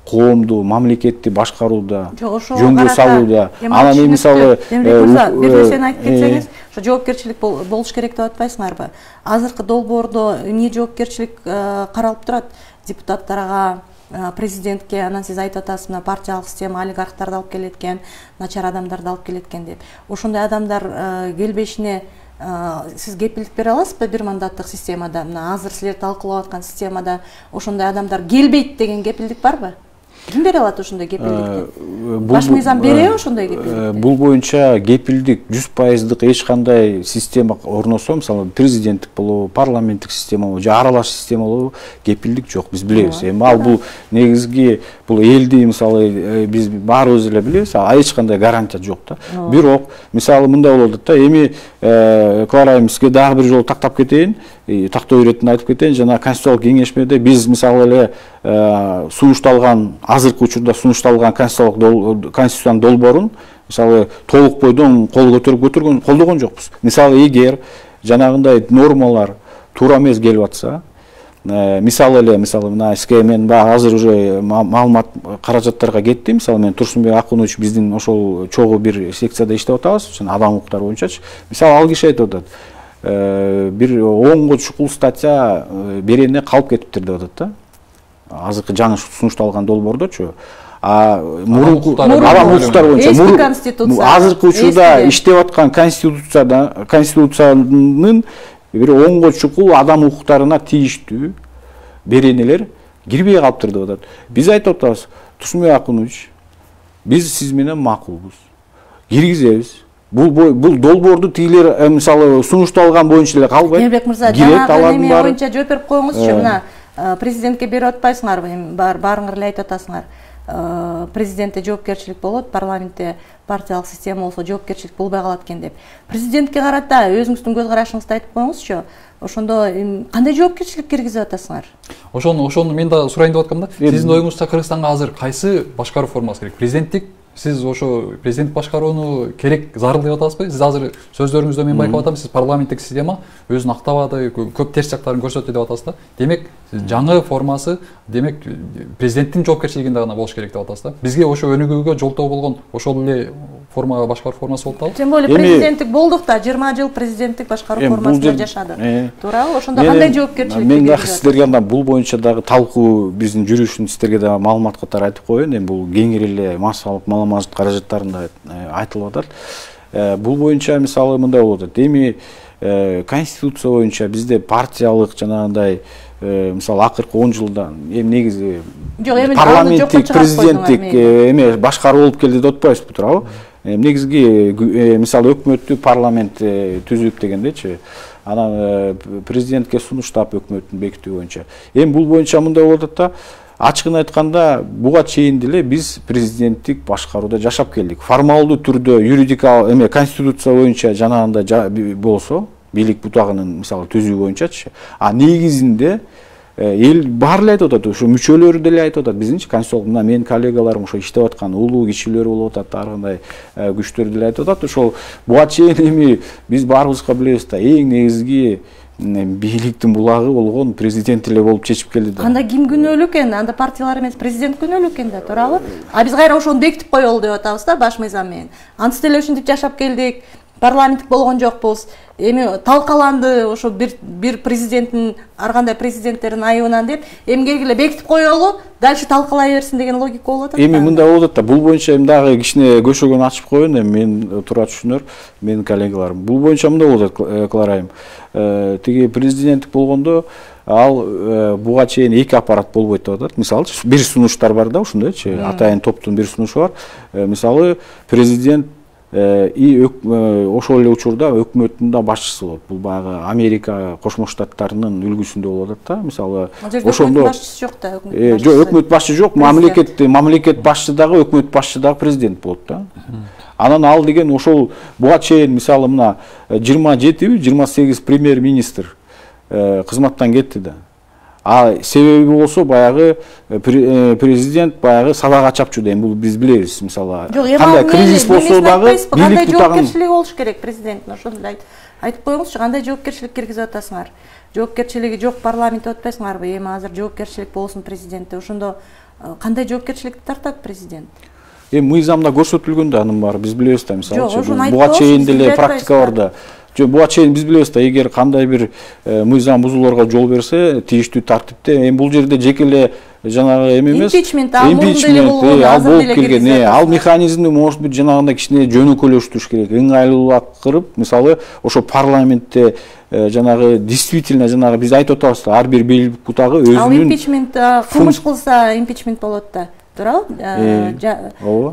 Коомду, мамлекетти башкарууда, жөнгө салууда. Анан эми мисалы сен айтып кетсеңиз, ошо жоопкерчилик болуш керек деп атпайсыңарбы? Азыркы долбоордо эмне жоопкерчилик каралып турат? Депутаттарга, президентке, анан сиз айтып атасыз, мына партиялык система олигархтарды алып келет экен, начар адамдарды алып келет экен деп. Ошондой адамдар келбешине сиз кепилдик бере аласызбы бир мандаттык системада? Мына азыр силер талкуулап аткан системада ошондой адамдар келбейт деген кепилдик барбы? Ким бере алат ошондой кепилдикти? Баш мыйзам береби ошондой кепилдикти? Бул боюнча кепилдик 100%дык эч кандай система орносо, мисалы президенттик болобу, парламенттик система болобу, же аралаш система болобу, кепилдик жок, биз билебиз. Эми ал бул негизги бул элди мисалы биз баарыбыз эле билебиз, эч кандай гарантия жок да. Бирок мисалы мындай болуп атат да, эми Кларайымызга дагы бир жолу тактап кетейин, тактоо иретин айтып кетейин. Жана конституциялык кеңешмеде биз мисалы эле сунушталган азыркы учурда сунушталган конституциянын долбоорун мисалы толук бойдон кол көтөрүп колдогон жокпуз. Мисалы эгер жанагындай нормалар туура эмес келип атса, мисалы эле мына сизге мен азыр уже маалымат каражаттарга кетти. Мисалы мен Турсунбек Акунович биздин ошол чогуу бир секцияда иштеп атабыз, адам укуктары боюнчачы. Мисалы ал киши айтып атат, бир 10 чукул статья берене калып кетиптир деп атат да. Азыркы жаңы сунушталган долбоордочу. мурунку адам укуктары боюнча эски конституция азыркы учурда иштеп аткан конституциянын бир оңго чукул адам укуктарына тийиштүү беренелер кирбей калыптыр деп атат. Биз айтып атабыз, Тушунбек Акунович, биз сиз менен макулбуз. Киргизебиз. Бул долбоорду тигилер мисалы сунушталган боюнча эле калбайт. Эмбек мырза, жанагы неме боюнча жооп берип коюңузчу. Мына президентке берип атпайсыңарбы? Эми баарыңар эле айтып атасыңар. Президентте жоопкерчилик болот, парламентте партиялык система болсо жоопкерчилик болбой калат экен деп. Президентке карата өзүңүздүн көз карашыңызды айтып коюңузчу. Ошондо кандай жоопкерчилик киргизип атасыңар? Ошону мен да сурайын деп аткам да. Сиздин оюңузча Кыргызстанга азыр кайсы башкаруу формасы керек? Президенттик? Сиз ошо президент башкарууну керек, зарыл деп атасызбы? Сиз азыр сөздөрүңүздө мен байкап атам, сиз парламенттик система өзүн актабады, көп терс жактарын көрсөттү деп атасыз да. Демек, жаңы формасы, демек президенттин жоопкерчилигинде гана болуш керек деп атасыз да. Бизге ошо өнүгүүгө жолтоо болгон ошол эле формага башкаруу формасы болуп атабы? Тем более президенттик болдук да, 20 жыл президенттик башкаруу формасында жашадык. Туурабы? Ошондо кандай жоопкерчилик? Мен дагы сиздерге анда бул боюнча дагы талкуу биздин жүрүшүн сиздерге дагы маалымат катары айтып коеюн. Эми бул кеңири эле массалык маалымат каражаттарында айтылып атат. Бул боюнча мисалы мындай болуп атат. Эми конституция боюнча бизде партиялык жанагындай мисалы акыркы 10 жылдан эми негизи парламенттик, президенттик эме башкаруу болуп келди деп атпайбызбы, туурабы? Негизги мисалы өкмөттү парламент түзүп дегендечи. Анан президентке сунуштап өкмөттүн бекитүү боюнча. Эми бул боюнча мындай болуп атат да, ачыгын айтканда буга чейин деле биз президенттик башкарууда жашап келдик. Формалдуу түрдө юридикалык эме конституция боюнча жанагында болсо, бийлик бутагынын мисалы түзүү боюнчачы, негизинде эл баары эле айтып атат, ошо мүчөлөрү деле айтып атат, биздинчи конституциялык мына менин коллегаларым ошо иштеп аткан улуу кишилер болуп атат, ар кандай күчтөр деле айтып атат. Ошол буга чейин эми биз баарыбызга билебиз да, эң негизги бийликтин булагы болгон президент эле болуп чечип келди да. Анда ким күнөөлүү экен? Анда партиялар эмес, президент күнөөлүү экен да, туурабы? Биз кайра ошону бекитип коелу деп атабыз да, баш мыйзам менен. Антип деле ушинтип жашап келдик. Парламенттик болгон жокпуз. Эми талкаланды ошо бир президенттин ар кандай президенттердин айыбынан деп, эми келгиле бекитип коелу, дальше талкалай берсин деген логика болуп атат. Эми мындай болуп атат да, бул боюнча эми дагы кичине көшөгөн ачып коеюн, эми мен туура түшүнөр, менин коллегаларым. Бул боюнча мындай болуп атат, Кларайым. Тиги президенттик болгондо ал буга чейин эки аппарат болбойт деп атат. Мисалы, бир сунуштар бар да, ушундайчы, атайын топтун бир сунушу бар. Мисалы, президент ошол эле учурда өкмөттүн да башчысы болот. Бул баягы Америка Кошмо Штаттарынын үлгүсүндө болуп атат да. Мисалы, ошондо башчысы жок да, өкмөт башчы жок, мамлекет башчы дагы, өкмөт башчы дагы президент болот да. Анан ал деген ошол буга чейин мисалы мына 27-28 премьер-министр кызматтан кетти да. Себеби болсо баягы президент баягы сабак чапчу дейм, бул биз билебиз мисалы. Кандай кризис болсо дагы бийлик жоопкерчилиги болуш керек президенттин, ошону айтып коюңузчу, кандай жоопкерчилик киргизип атасыңар? Жоопкерчилиги жок парламент деп атпайсыңарбы? Эми азыр жоопкерчилик болсун президентте. Ошондо кандай жоопкерчиликти тартат президент? Мыйзамда көрсөтүлгөн да анын баары, биз билебиз да, мисалы буга чейин деле практика бар да. Буга чейин биз билебиз да, эгер кандай бир мыйзам бузууларга жол берсе, тийиштүү тартипте, эми бул жерде жеке эле жанагы эме эмес, импичмент ал болуп келген, ал механизмди может быть жанагындай кичине жөнөкөйлөштүрүш керек, ыңгайлуулаак кылып, мисалы ошо парламентте жанагы действительно жанагы биз айтып атабыз да, ар бир бийлик бутагы өзүнүн ал импичмент кылмыш кылса импичмент болот да. Туурабы?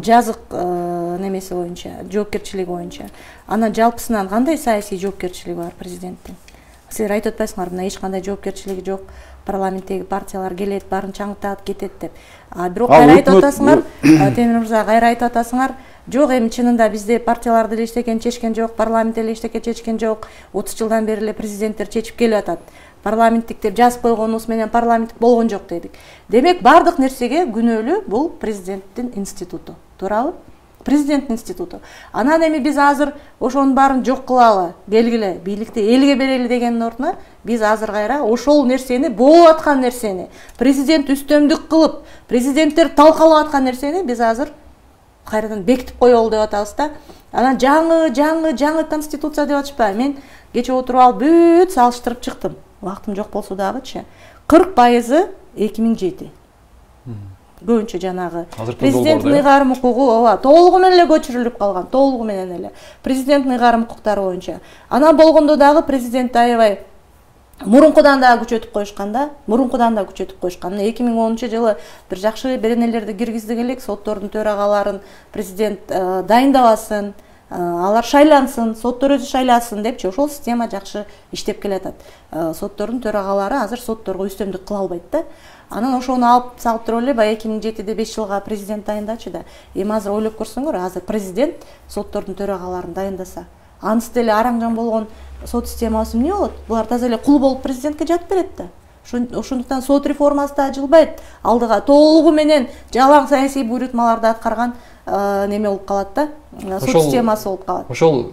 Жазык немеси боюнча, жоопкерчилиги боюнча. Анан жалпысынан кандай саясий жоопкерчилиги бар президенттин? Силер айтып атпайсыңарбы, мына эч кандай жоопкерчилиги жок, парламенттеги партиялар келет, баарын чаңытат, кетет деп. Бирок кайра айтып атасыңар, Темир мырза, кайра айтып атасыңар, жок, эми чынында бизде партиялар деле эчтекен чечкен жок, парламент деле эчтеке чечкен жок, 30 жылдан бери эле президенттер чечип келип атат. Парламенттик деп жазып койгонубуз менен парламенттик болгон жок дедик. Демек, бардык нерсеге күнөөлүү бул президенттин институту. Туурабы? Президенттин институту. Анан эми биз азыр ошонун баарын жок кылалы, келгиле, бийликти элге берели дегендин ордуна, биз азыр кайра ошол нерсени, болуп аткан нерсени, президент үстөмдүк кылып, президенттер талкалап аткан нерсени биз азыр кайрадан бекитип коелу деп атабыз да. Анан жаңы конституция деп атышпайбы? Мен кече отуруп алып бүт салыштырып чыктым. Вактым жок болсо дагычы. 40% 2007. көбүнчө жанагы президенттин ыйгарым укугу ооба толугу менен эле көчүрүлүп калган, толугу менен эле президенттин ыйгарым укуктары боюнча. Анан болгондо дагы президент аябай мурункудан да күчөтүп коюшкан да, 2010-жылы бир жакшы беренелерди киргиздик элек, соттордун төрагаларын президент дайындабасын, алар шайлансын, соттор өзү шайласын депчи, ошол система жакшы иштеп келатат. Соттордун төрагалары азыр сотторго үстөмдүк кыла албайт да. Анан ошону алып салып туруп эле баягы 2007-де 5 жылга президент дайындачы да. Эми азыр ойлоп көрсөңөр, азыр президент соттордун төрагаларын дайындаса, анысы деле араңжан болгон сот системасы эмне болот? Булар таза эле кул болуп президентке жатып берет да. Ошондуктан сот реформасы да жылбайт. Алдыга толугу менен жалаң саясий буйрутмаларды аткарган неме болуп калат да. Сот системасы болуп калат. Ошол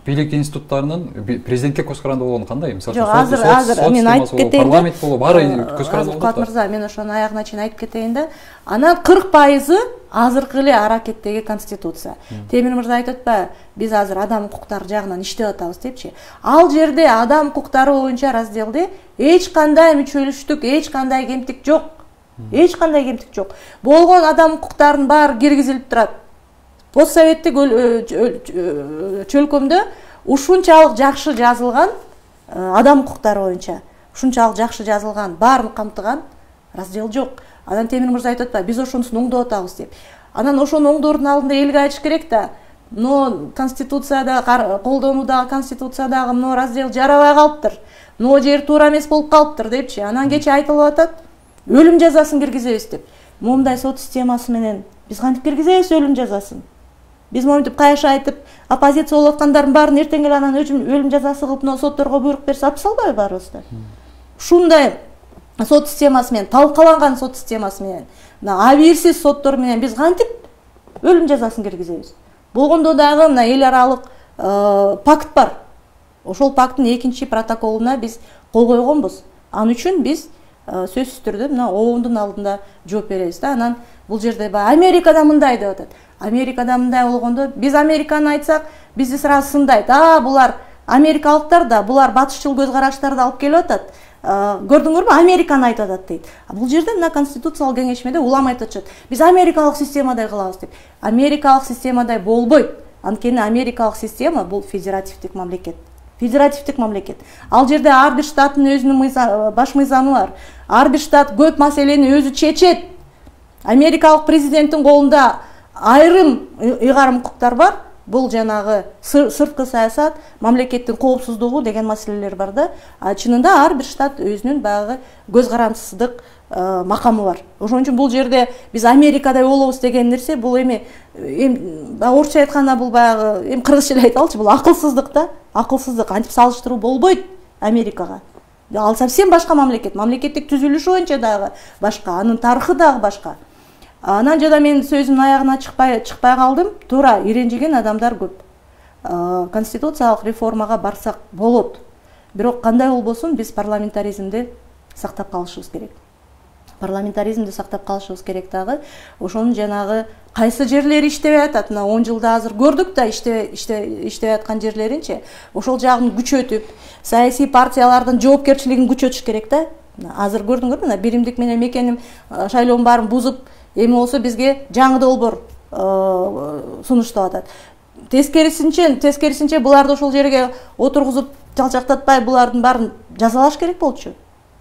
бийлик институттарынын президентке көз каранды болгону кандай? Мисалы үчүн азыр мен айтып кетейин. Парламент болобу, баары көз каранды болот. Куат мырза, мен ошону аягына чейин айтып кетейин да. Анан 40% азыркы эле аракеттеги конституция. Темир мырза айтып атпайбы, биз азыр адам укуктары жагынан иштеп атабыз депчи. Ал жерде адам укуктары боюнча разделде эч кандай мүчөлүштүк, эч кандай кемтик жок. Эч кандай кемтик жок. Болгон адам укуктарынын баары киргизилип турат. Постсоветтик чөлкөмдө ушунчалык жакшы жазылган адам укуктары боюнча, ушунчалык жакшы жазылган, баарын камтыган раздел жок. Анан Темир мырза айтып атпайбы, биз ошонусун оңдоп атабыз деп. Анан ошону оңдоордун алдында элге айтыш керек да. Но конституцияда колдонуудагы конституциядагы мына раздел жарабай калыптыр. Но жер туура эмес болуп калыптыр депчи. Анан кечээ айтылып атат, өлүм жазасын киргизебиз деп. Момундай сот системасы менен биз кантип киргизебиз өлүм жазасын? Биз моментип кайша айтып, оппозиция болуп аткандардын баарын эртең эле анан өлүм жазасы кылып мына сотторго буйрук берсе алып салбайбы баарыбызды? Ушундай сот системасы менен, талкаланган сот системасы менен, мына абийирсиз соттор менен биз кантип өлүм жазасын киргизебиз? Болгондо дагы мына эл аралык пакт бар. Ошол пакттын 2 протоколуна биз кол койгонбуз. Ал үчүн биз сөзсүз түрдө мына ООНдун алдында жооп беребиз да. Анан бул жерде Америкада мындай деп атат. Америкада мындай болгондо биз Американы айтсак, бизди сразу сындайт. Булар америкалыктар да, булар батышчыл көз караштарды алып келип атат. Көрдүңөрбү, Американы айтып атат дейт. Бул жерде мына конституциялык кеңешмеде улам айтып атышат. Биз америкалык системадай кылабыз деп. Америкалык системадай болбойт. Анткени америкалык система бул федеративдик мамлекет. Федеративдик мамлекет. Ал жерде ар бир штаттын өзүнүн баш мыйзамы бар. Ар бир штат көп маселени өзү чечет. Америкалык президенттин колунда айрым ыйгарым укуктар бар. Бул жанагы сырткы саясат, мамлекеттин коопсуздугу деген маселелер бар да. Чынында ар бир штат өзүнүн баягы көз карандысыздык макамы бар. Ошон үчүн бул жерде биз Америкадай болобуз деген нерсе бул эми орусча айтканда бул баягы эми кыргызча эле айталычы, бул акылсыздык да. Акылсыздык, антип салыштыруу болбойт Америкага. Ал совсем башка мамлекет. Мамлекеттик түзүлүшү боюнча дагы башка, анын тарыхы дагы башка. Анан жада мен сөзүмдүн аягына чыкпай калдым. Туура, иренжиген адамдар көп. Конституциялык реформага барсак болот. Бирок кандай болбосун, биз парламентаризмди сактап калышыбыз керек. Парламентаризмди сактап калышыбыз керек дагы. Ошонун жанагы кайсы жерлери иштебей атат. Мына 10 жылда азыр көрдүк да иштебей аткан жерлеринчи. Ошол жагын күчөтүп, саясий партиялардын жоопкерчилигин күчөтүш керек да. Азыр көрдүңөрбү, мына биримдик менен мекеним шайлоонун баарын бузуп, эми болсо бизге жаңы долбоор сунуштап атат. Тескерисинче буларды ошол жерге отургузуп жалчактатпай булардын баарын жазалаш керек болчу.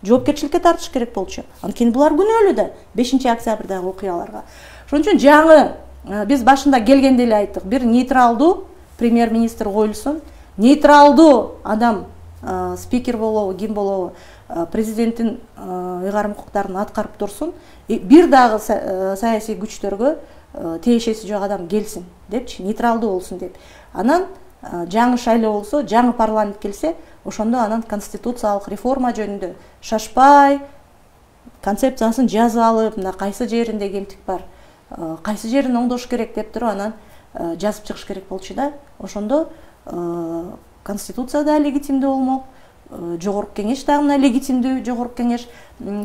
Жоопкерчиликке тартыш керек болчу. Анткени булар күнөөлүү да 5 октябрдагы окуяларга. Ошон үчүн жаңы биз башында келгенде эле айттык, бир нейтралдуу премьер-министр коюлсун, нейтралдуу адам спикер болобу, ким болобу, президенттин ыйгарым укуктарын аткарып турсун, бир дагы саясий күчтөргө тиешеси жок адам келсин депчи, нейтралдуу болсун деп. Анан жаңы шайлоо болсо, жаңы парламент келсе, ошондо анан конституциялык реформа жөнүндө шашпай концепциясын жазып алып, мына кайсы жеринде кемтик бар, кайсы жерин оңдош керек деп туруп анан жазып чыгыш керек болчу да. Ошондо конституция да легитимдүү болмок, жогорку кеңеш дагы мына легитимдүү жогорку кеңеш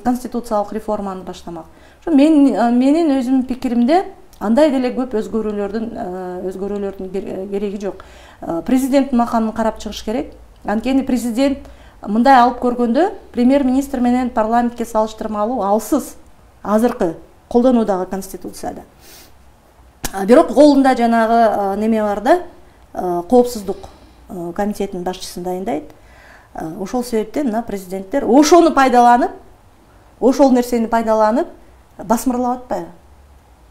конституциялык реформаны баштамак. Ошо менин өзүмдүн пикиримде андай деле көп өзгөрүүлөрдүн кереги жок. Президенттин макамын карап чыгыш керек. Анткени президент мындай алып көргөндө премьер-министр менен парламентке салыштырмалуу алсыз азыркы колдонуудагы конституцияда. Бирок колунда жанагы неме бар да, коопсуздук комитетинин башчысын дайындайт. Ошол себептен мына президенттер ошону пайдаланып, ошол нерсени пайдаланып басмырлап атпайбы?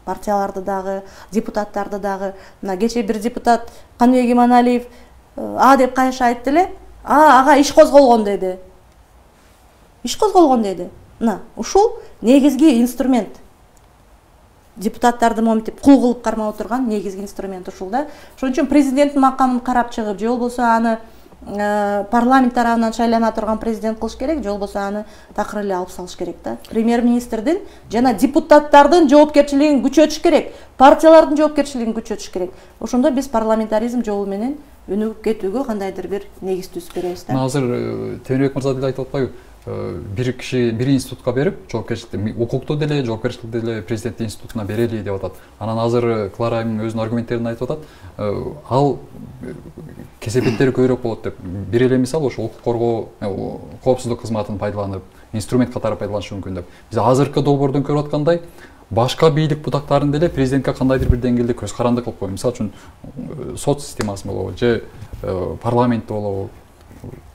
Партияларды дагы, депутаттарды дагы. Мына кече бир депутат Каныбек Иманалиев деп кайша айтты эле, ага иш козголгон деди. Иш козголгон деди. Мына ушул негизги инструмент. Депутаттарды моментип кул кылып кармап отурган негизги инструмент ушул да. Ошон үчүн президенттин макамын карап чыгып, же болбосо аны парламент тарабынан шайлана турган президент кылыш керек, же болбосо аны такыр эле алып салыш керек да. Премьер-министрдин жана депутаттардын жоопкерчилигин күчөтүш керек, партиялардын жоопкерчилигин күчөтүш керек. Ошондо биз парламентаризм жолу менен өнүгүп кетүүгө кандайдыр бир негиз түзүп беребиз да. Азыр Темирбек мырза деле айтып атпайбы? Бир киши бир институтка берип, жоопкерчиликти, укукту деле, жоопкерчиликти деле президент институтуна берели деп атат. Анан азыр Клара айым өзүнүн аргументтерин айтып атат. Ал кесепеттери көбүрөөк болот деп. Бир эле мисал ошо укук коргоо, коопсуздук кызматын пайдаланып, инструмент катары пайдаланышы мүмкүн деп. Биз азыркы долбоордон көрүп аткандай, башка бийлик бутактарын деле президентке кандайдыр бир деңгээлде көз каранды кылып коюу. Мисалы үчүн сот системасы болобу, же парламентти болобу,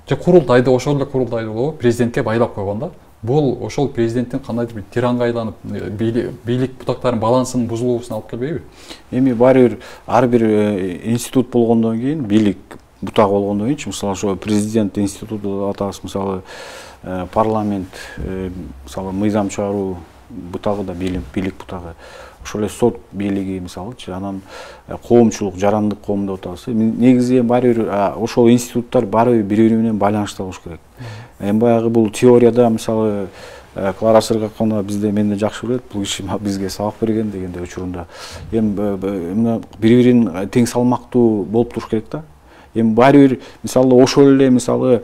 же курултайды, ошол эле курултайды болобу, президентке байлап койгондо, бул ошол президенттин кандайдыр бир тиранга айланып, бийлик бутактарынын балансынын бузулуусуна алып келбейби? Эми ар бир институт болгондон кийин, бийлик бутагы болгондон кийин, мисалы ошо президент институту деп атабыз, мисалы парламент, мисалы мыйзам чыгаруу бутагы да бийлик бутагы. Ошол эле сот бийлиги мисалычы, анан коомчулук, жарандык коом деп атабыз. Негизи баары бир ошол институттар баары бири менен байланышта болуш керек. Эми баягы бул теорияда мисалы Клара Сыргакова бизде менде жакшы билет, бул киши бизге сабак берген дегенде учурунда. Эми бири-бирин тең салмактуу болуп туруш керек да. Эми баары бир мисалы ошол эле мисалы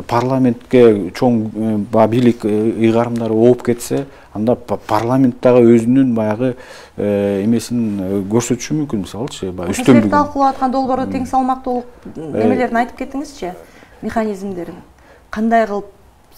парламентке чоң бийлик ыйгарымдары ооп кетсе, анда парламент дагы өзүнүн баягы эмесин көрсөтүшү мүмкүн, мисалычы, үстөнлүк талкуулап аткан долбоордо тең салмактуулук немелерин айтып кеттиңизчи, механизмдерин кандай кылып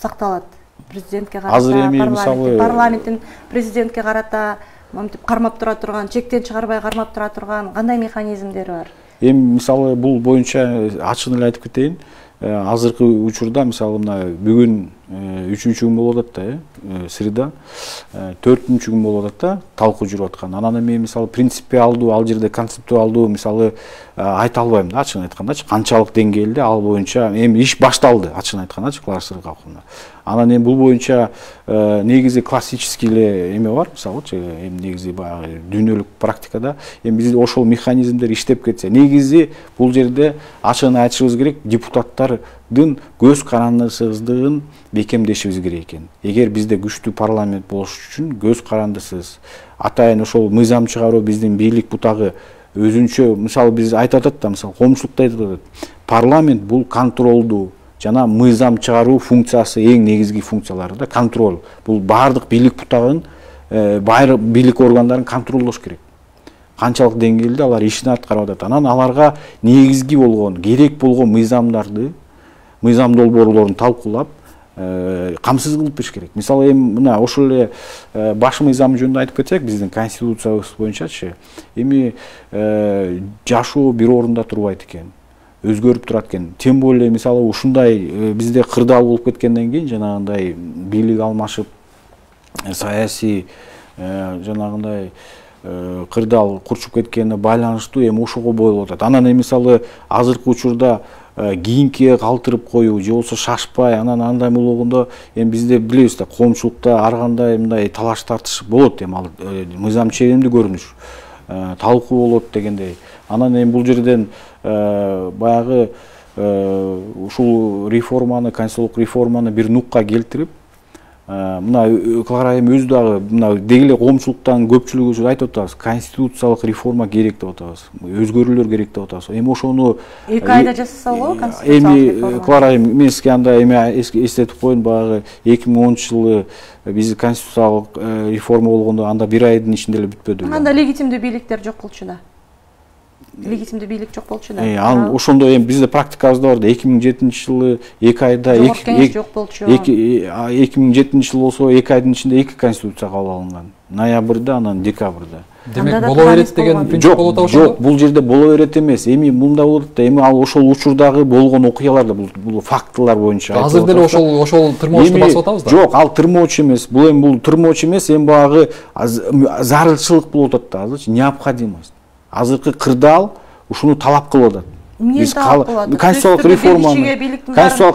сакталат? Президентке карата, парламенттин президентке карата монтип кармап тура турган, чектен чыгарбай кармап тура турган кандай механизмдери бар? Эми мисалы бул боюнча ачык эле айтып кетейин. Азыркы учурда мисалы мына бүгүн 3-күн болуп атат да, среда, 4-күн болуп атат да, талкуу жүрүп аткан. Анан эми мисалы принципиалдуу, ал жерде концептуалдуу мисалы айта албайм да, ачыгын айткандачы, канчалык деңгээлде ал боюнча эми иш башталды, ачыгын айткандачы, Клара Сыргакова. Анан эми бул боюнча негизи классический эле эме бар, мисалычы, эми негизи баягы дүйнөлүк практикада эми биз ошол механизмдер иштеп кетсе, негизи бул жерде ачыгын айтышыбыз керек, депутаттардын көз карандысыздыгын бекемдешибиз керек экен. Эгер бизде күчтүү парламент болуш үчүн көз карандысыз, атайын ошол мыйзам чыгаруу биздин бийлик бутагы өзүнчө, мисалы биз айтып атат да, мисалы коомчулукта айтып атат, парламент бул контролдуу жана мыйзам чыгаруу функциясы эң негизги функциялары да, контроль. Бул баардык бийлик бутагын, баардык бийлик органдарын контролдош керек. Канчалык деңгээлде алар ишин аткарып атат. Анан аларга негизги болгон, керек болгон мыйзамдарды, мыйзам долбоорлорун талкуулап, камсыз кылып бериш керек. Мисалы эми мына ошол эле баш мыйзам жөнүндө айтып кетсек, биздин конституциябыз боюнчачы, эми жашоо бир орунда турбайт экен, өзгөрүп турат экен. Тем более мисалы ушундай бизде кырдаал болуп кеткенден кийин, жанагындай бийлик алмашып, саясий жанагындай кырдаал курчуп кеткенине байланыштуу эми ошого болуп атат. Анан эми мисалы азыркы учурда кийинкиге калтырып коюу, же болбосо шашпай, анан андай болгондо эми бизде билебиз да, коомчулукта ар кандай мындай талаш тартыш болот, эми ал мыйзам ченемдүү көрүнүш, талкуу болот дегендей. Анан эми бул жерден баягы ушул реформаны, конституциялык реформаны бир нукка келтирип, мына Клара эми өзү дагы мына дегеле коомчулуктан көпчүлүгү үчүн айтып атабыз, конституциялык реформа керек деп атабыз, өзгөрүүлөр керек деп атабыз. Эми ошону 2 айда жасаса болобу конституциялык реформа? Эми Клара мен сизге анда эми эстетип коеюн, баягы 2010-жылы биз конституциялык реформа болгондо анда 1 айдын ичинде эле бүтпөдүбү? Анда легитимдүү бийликтер жок болчу да. легитимдүү бийлик жок болчу да. Ал ошондо эми бизде практикабызда бар да 2007-жылы 2 айда жок болчу. 2007 жыл болсо 2 айдын ичинде 2 конституция кабыл алынган. Ноябрда, анан декабрда. Демек боло берет деген принцип болот ошондо? Жок, бул жерде боло берет эмес. Эми мында болот да, эми ал ошол учурдагы болгон окуялар да, бул фактылар боюнча. Азыр деле ошол тырмоочту басып атабыз да. Жок, ал тырмоочу эмес. Бул тырмоочу эмес, эми багы зарылчылык болуп атат да, азырчы необходимость. Азыркы кырдаал ушуну талап кылып атат. Биз конституциялык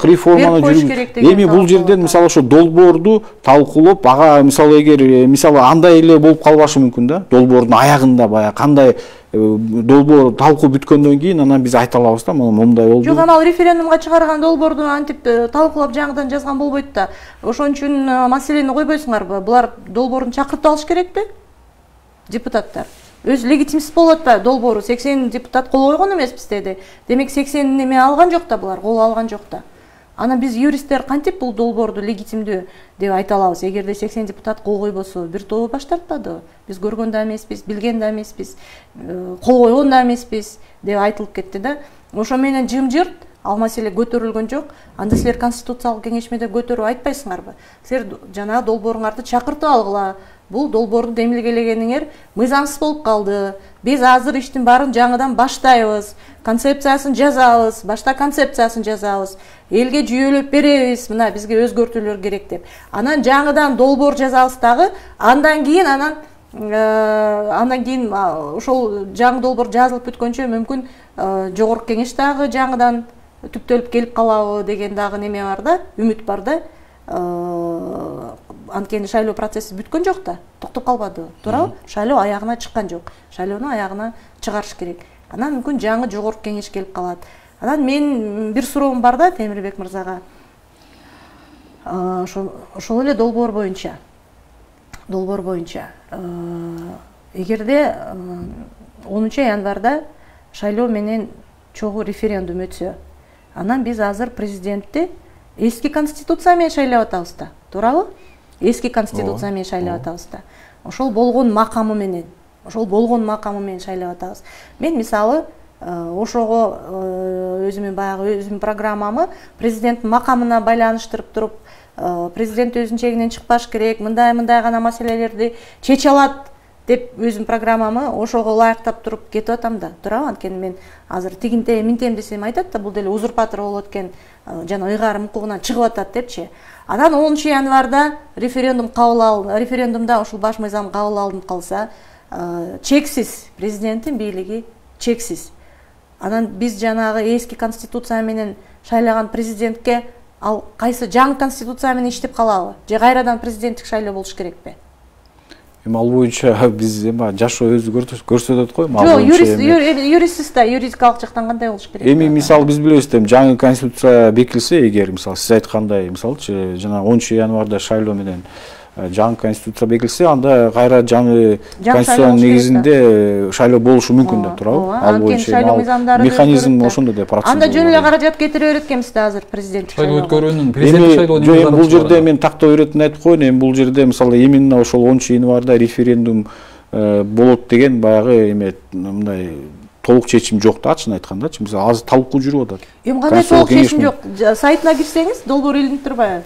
реформаны жүргүзүп. Эми бул жерден мисалы ошо долбоорду талкуулап, ага мисалы эгер мисалы андай эле болуп калбашы мүмкүн да. Долбоордун аягында баягы кандай долбоор талкуу бүткөндөн кийин анан биз айта алабыз да, момундай болду. Жок, анан референдумга чыгарган долбоорду антип талкуулап жаңыдан жазган болбойт да. Ошон үчүн маселени койбойсуңарбы? Булар долбоорун чакыртып алыш керекпи? Депутаттар өз легитимсиз болот да, долбоору 80 депутат кол койгон эмеспиз деди. Демек 80 неме алган жок да, булар кол алган жок да. Анан биз юристтер кантип бул долбоорду легитимдүү деп айта алабыз? Эгерде 80 депутат кол койбосо, бир тобу баш тартпадыбы? Биз көргөн да эмеспиз, билген да эмеспиз, кол койгон да эмеспиз деп айтылып кетти да. Ошо менен жымжырт ал маселе көтөрүлгөн жок. Анда силер конституциялык кеңешмеде көтөрүп айтпайсыңарбы? Силер жана долбооруңарды чакыртып алгыла. Бул долбоорду демилгелегениңер мыйзамсыз болуп калды. Биз азыр иштин баарын жаңыдан баштайбыз. Концепциясын жазабыз, башта концепциясын жазабыз. Элге жүйөлөп беребиз. Мына бизге өзгөртүүлөр керек деп. Анан жаңыдан долбоор жазабыз дагы. Андан кийин ошол жаңы долбоор жазылып бүткөнчө мүмкүн жогорку кеңеш дагы жаңыдан түптөлүп келип калабы деген дагы неме бар да, үмүт бар да. Анткени шайлоо процесси бүткөн жок да, токтоп калбады, туурабы? Шайлоо аягына чыккан жок. Шайлоону аягына чыгарыш керек. Анан мүмкүн жаңы жогорку кеңеш келип калат. Анан мен бир суроом бар да Темирбек мырзага. Ошол эле долбоор боюнча. Эгерде 10-январда шайлоо менен чогуу референдум өтсө, анан биз азыр президентти эски конституция менен шайлап атабыз да, туурабы? Эски конституция менен шайлап атабыз да. Ошол болгон макамы менен шайлап атабыз. Мен мисалы ошого өзүмдүн программамы президенттин макамына байланыштырып туруп, президент өзүнүн чегинен чыкпаш керек, мындай гана маселелерди чече алат деп өзүмдүн программамы ошого ылайыктап туруп кетип атам да, туурабы? Анткени мен азыр тигинте минтем десем айтат да, бул деле узурпатор болот экен, жана ыйгарым укугунан чыгып атат депчи. Анан 10-январда референдумда ушул баш мыйзам кабыл алынып калса, чексиз президенттин бийлиги чексиз. Анан биз жанагы эски конституция менен шайлаган президентке ал кайсы жаңы конституция менен иштеп калабы? Же кайрадан президенттик шайлоо болуш керекпи? Эми ал боюнча биз жашоо өзү көрсөтөт го. Жок, юристсиз да, юридикалык жактан кандай болуш керек? Эми мисалы биз билебиз да, жаңы конституция бекилсе, эгер мисалы сиз айткандай, мисалычы жана 10-январда шайлоо менен жаңы конституция бекилсе, анда кайра жаңы конституциянын негизинде шайлоо болушу мүмкүн да, туурабы? Ал боюнча механизм ошондо да процесс. Анда жөн эле каражат кетире берет экенбиз да азыр президенттик шайлоо өткөрүүнүн президенттик шайлоо. Бул жерде мен тактоо беретин айтып коеюн, эми бул жерде мисалы именно ошол 10-январда референдум болот деген баягы эме мындай толук чечим жок да, чын айткандачы. Мисалы азыр талкуу жүрүп атат. Эми кандай толук чечим жок? Сайтына кирсеңиз, долбоор илинип турбайбы?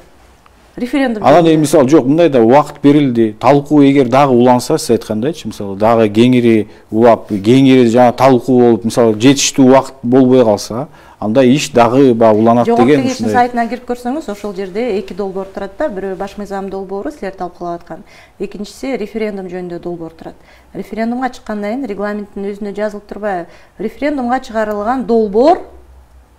Референдум. Анан эми мисалы жок, мындай да убакыт берилди. Талкуу эгер дагы уланса, сиз айткандайчы, мисалы дагы кеңири улап, кеңири жана талкуу болуп, мисалы жетиштүү убакыт болбой калса, анда иш дагы уланат деген. Жогорку кеңештин сайтына кирип көрсөңүз, ошол жерде эки долбоор турат да. Бирөө баш мыйзам долбоору, силер талкуулап аткан. Экинчиси референдум жөнүндө долбоор турат. Референдумга чыккандан кийин регламенттин өзүнө жазылып турбайбы? Референдумга чыгарылган долбоор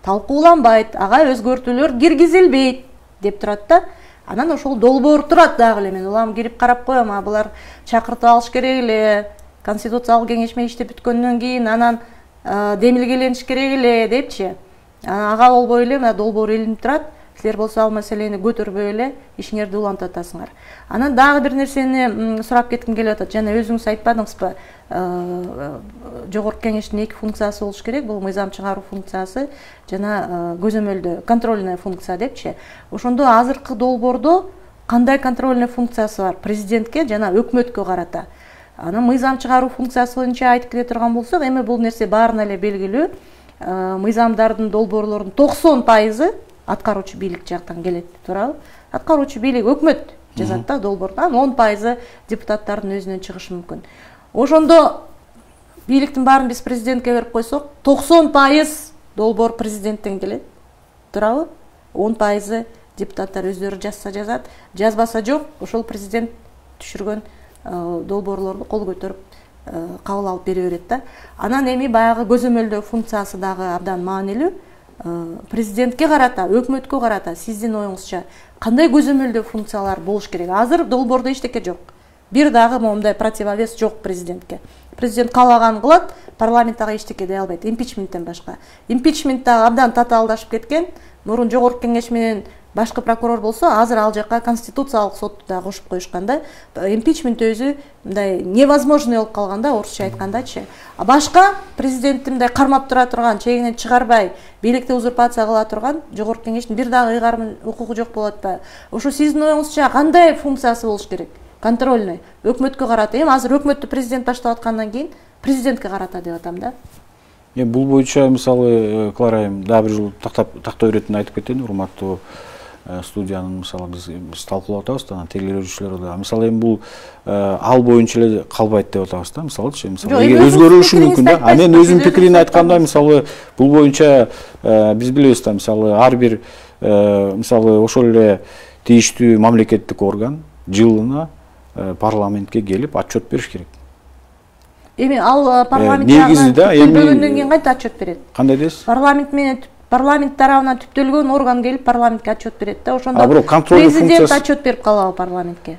талкууланбайт, ага өзгөртүүлөр киргизилбейт деп турат да. Анан ошол долбоор турат дагы эле. Мен улам кирип карап коем, булар чакыртып алыш керек эле. Конституциялык кеңешме иштеп бүткөндөн кийин анан демилгелениш керек эле депчи. Ага болбой эле мына долбоор илинип турат. Силер болсо ал маселени көтөрбөй эле ишиңерди улантып атасыңар. Анан дагы бир нерсени сурап кетким келип атат. Жана өзүңүз айтпадыңызбы? Жогорку кеңештин эки функциясы болуш керек. Бул мыйзам чыгаруу функциясы жана көзөмөлдөө контрольный функция депчи. Ошондо азыркы долбоордо кандай контрольный функциясы бар? Президентке жана өкмөткө карата. Анан мыйзам чыгаруу функциясы боюнча айтып келе турган болсок, эми бул нерсе баарына эле белгилүү. Мыйзамдардын, долбоорлордун 90% аткаруучу бийлик жактан келет, туурабы? Аткаруучу бийлик өкмөт жазат да долбоорду. Анан 10% депутаттардын өзүнөн чыгышы мүмкүн. Ошондо бийликтин баарын биз президентке берип койсок, 90% долбоор президенттен келет, туурабы? 10% депутаттар өздөрү жазса жазат, жазбаса жок, ошол президент түшүргөн долбоорлорду кол көтөрүп кабыл алып бере берет да. Анан эми баягы көзөмөлдөө функциясы дагы абдан маанилүү. Президентке карата, өкмөткө карата сиздин оюңузча кандай көзөмөлдөө функциялар болуш керек? Азыр долбоордо эчтеке жок. Бир дагы моундай противовес жок президентке. Президент каалаганын кылат, парламент ага эчтеке дей албайт, импичменттен башка. Импичмент дагы абдан татаалдашып кеткен. Мурун жогорку кеңеш менен башкы прокурор болсо, азыр ал жака конституциялык сотту да кошуп коюшкан да. Импичмент өзү мындай невозможный болуп калган да, орусча айткандачы. А башка президентти мындай кармап тура турган, чегинен чыгарбай, бийликти узурпация кыла турган жогорку кеңештин бир дагы ыйгарым укугу жок болот атпайбы? Ошо сиздин оюңузча кандай функциясы болуш керек? Контрольный, өкмөткө карата. Эми азыр өкмөттү президент баштап аткандан кийин президентке карата деп атам да. Бул боюнча мисалы Клара айым дагы бир жолу тактой иретин айтып кетейин, урматтуу студиянын мисалы биз талкуулап атабыз да, тейлөөчүлөр да. Мисалы эми бул ал боюнча эле калбайт деп атабыз да. Мисалычы, өзгөрүшү мүмкүн да. А мен өзүмдүн пикирин айтканда, мисалы бул боюнча биз билебиз да, мисалы ар бир мисалы ошол эле тийиштүү мамлекеттик орган жылына парламентке келип отчет бериш керек. Эми ал парламент түптөлгөндөн кийин кантип отчет берет? Кандай дейсиз? Парламент тарабынан түптөлгөн орган келип парламентке отчет берет да. Ошондо президент отчет берип калабы парламентке?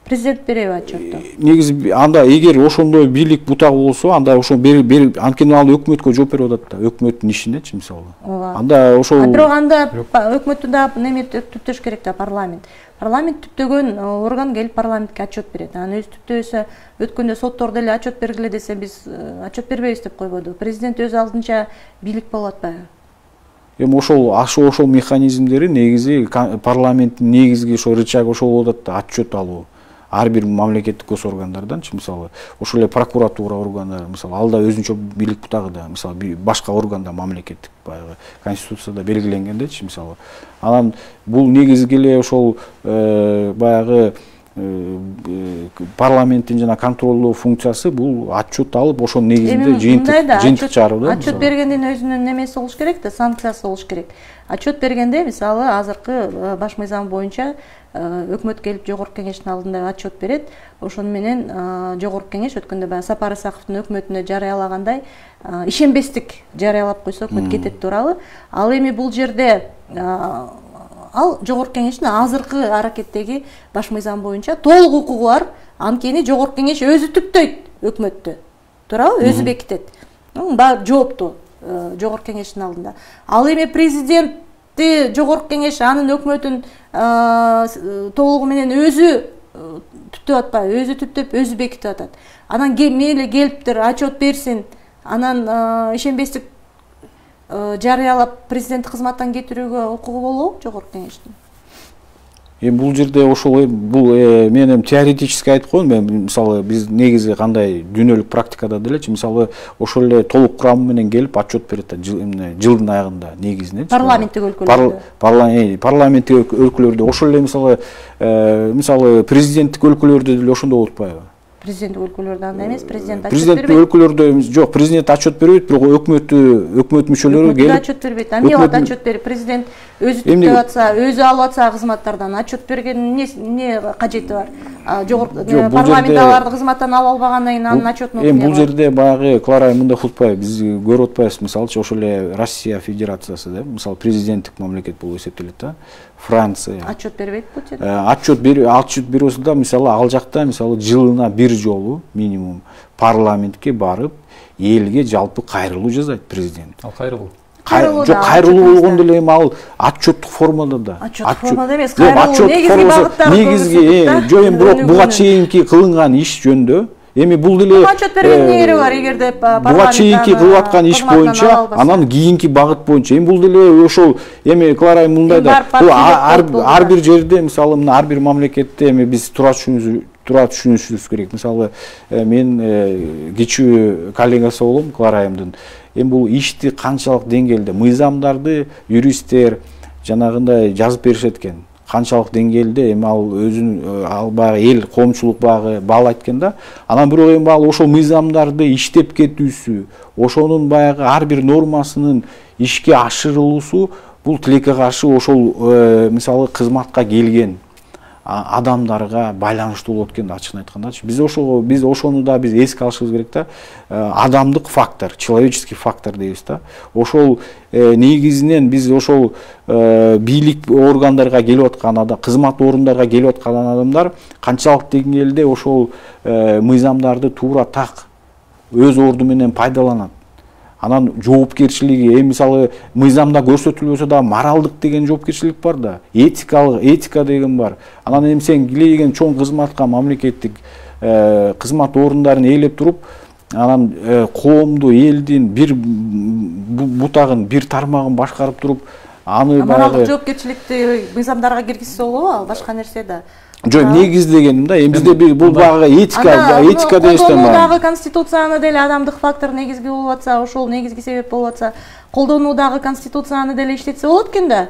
Президент береби отчетту? Негизи анда эгер ошондой бийлик бутагы болсо, анда ошо анткени ал өкмөткө жооп берип атат да, өкмөттүн ишинечи мисалы. Анда ошол бирок анда өкмөттү да неме түптөш керек да, парламент. Парламент түптөгөн орган келип парламентке отчет берет. Анан өзү түптөбөсө өткөндө соттордо эле отчет бергиле десе биз отчет бербейбиз деп койбоду. Президент өз алдынча бийлик болуп атпайбы? Эми ошол механизмдери негизи парламенттин негизги ошо рычагы ошол болуп атат да, отчет алуу. Ар бир мамлекеттик гос органдарданчы, мисалы ошол эле прокуратура органдары, мисалы ал да өзүнчө бийлик бутагы да, мисалы башка органда мамлекеттик баягы конституцияда белгиленгендечи, мисалы. Анан бул негизги эле ошол баягы парламенттин жана контролдоо функциясы бул отчет алып, ошонун негизинде жыйынтык чыгаруу да. Отчет бергендин өзүнүн немеси болуш керек да, санкциясы болуш керек. Отчет бергенде мисалы азыркы баш мыйзам боюнча өкмөт келип жогорку кеңештин алдында отчет берет. Ошону менен жогорку кеңеш өткөндө баягы Сапар Исаковдун өкмөтүнө жарыялагандай ишенбестик жарыялап койсо өкмөт кетет, туурабы? Ал эми бул жерде ал жогорку кеңештин азыркы аракеттеги баш мыйзам боюнча толук укугу бар. Анткени жогорку кеңеш өзү түптөйт өкмөттү, туурабы? Өзү бекитет. Баары жооптуу жогорку кеңештин алдында. Ал эми президентти жогорку кеңеш анын өкмөтүн толугу менен өзү түптөп атпайбы? Өзү түптөп, өзү бекитип атат. Анан мейли келиптир, отчет берсин. Анан ишенбестик жарыялап президенттик кызматтан кетирүүгө укугу болобу жогорку кеңештин? Эми бул жерде ошол бул мен эми теоретически айтып коеюн, мен мисалы биз негизи кандай дүйнөлүк практикада делечи, мисалы ошол эле толук курамы менен келип отчет берет да, жылдын аягында негизинен. Парламенттик өлкөлөрдө. Парламенттик өлкөлөрдө ошол эле мисалы президенттик өлкөлөрдө деле ошондой болуп атпайбы? Президенттик өлкөлөрдө андай эмес, президент отчет бербейт. Президенттик өлкөлөрдө жок, президент отчет бербейт, бирок өкмөт мүчөлөрү келип отчет бербейт. Эмне кылат отчет берип? Президент өзү түптөп атса, өзү алып атса кызматтардан отчет бергенин эмне кажети бар? Парламент аларды кызматтан алып албагандан кийин анын отчетун эми бул жерде баягы Клара мындай кылып атпайбы, биз көрүп атпайбыз, мисалычы ошол эле Россия Федерациясы да, мисалы президенттик мамлекет болуп эсептелет да. Франция отчет бербейт бул жерде. Отчет берүүсү да, мисалы ал жакта мисалы жылына бир жолу минимум парламентке барып, элге жалпы кайрылуу жазайт президент. Ал кайрылуу. Жок, кайрылуу болгондо эле эми ал отчеттук формада да. Отчеттук формада эмес, кайрылуу негизги багыттары. Негизги, жок, эми бирок буга чейинки кылынган иш жөнүндө эми бул деле отчет бергендин негери бар, эгерде буга чейинки кылып аткан иш боюнча, анан кийинки багыт боюнча. Эми бул деле ошол эми Клара мындай да, ар бир жерде мисалы мына ар бир мамлекетте эми биз туура түшүнүшүбүз керек. Мисалы мен кичүү коллегасы болом Клара айымдын. Эми бул ишти канчалык деңгээлде мыйзамдарды юристтер жанагындай жазып беришет экен. Канчалык деңгээлде эми ал өзүн ал баягы эл коомчулук баягы баалайт экен да. Анан бирок эми ал ошол мыйзамдарды иштеп кетүүсү, ошонун баягы ар бир нормасынын ишке ашырылуусу бул тилекке каршы ошол мисалы кызматка келген адамдарга байланыштуу болот экен да, ачыгын айткандачы. Биз ошону да биз эске алышыбыз керек да. Адамдык фактор, человеческий фактор дейбиз да. Ошол негизинен биз ошол бийлик органдарга келип аткан адам, кызмат орундарга келип аткан адамдар канчалык деңгээлде ошол мыйзамдарды туура так өз орду менен пайдаланат. Анан жоопкерчилиги, мисалы мыйзамда көрсөтүлбөсө да моралдык деген жоопкерчилик бар да, этика деген бар. Анан эми сен килейген чоң кызматка мамлекеттик кызмат орундарын ээлеп туруп, анан коомду, элдин бир бутагын, бир тармагын башкарып туруп, аны моралдык жоопкерчиликти мыйзамдарга киргизсе болобу, ал башка нерсе да. Жок, негиз дегеним да, эми бизде бул багы этика дегестен бар. Колдонуудагы конституцияны деле адамдык фактор негизги болуп атса, ошол негизги себеп болуп атса, колдонуудагы конституцияны деле иштетсе болот экен да.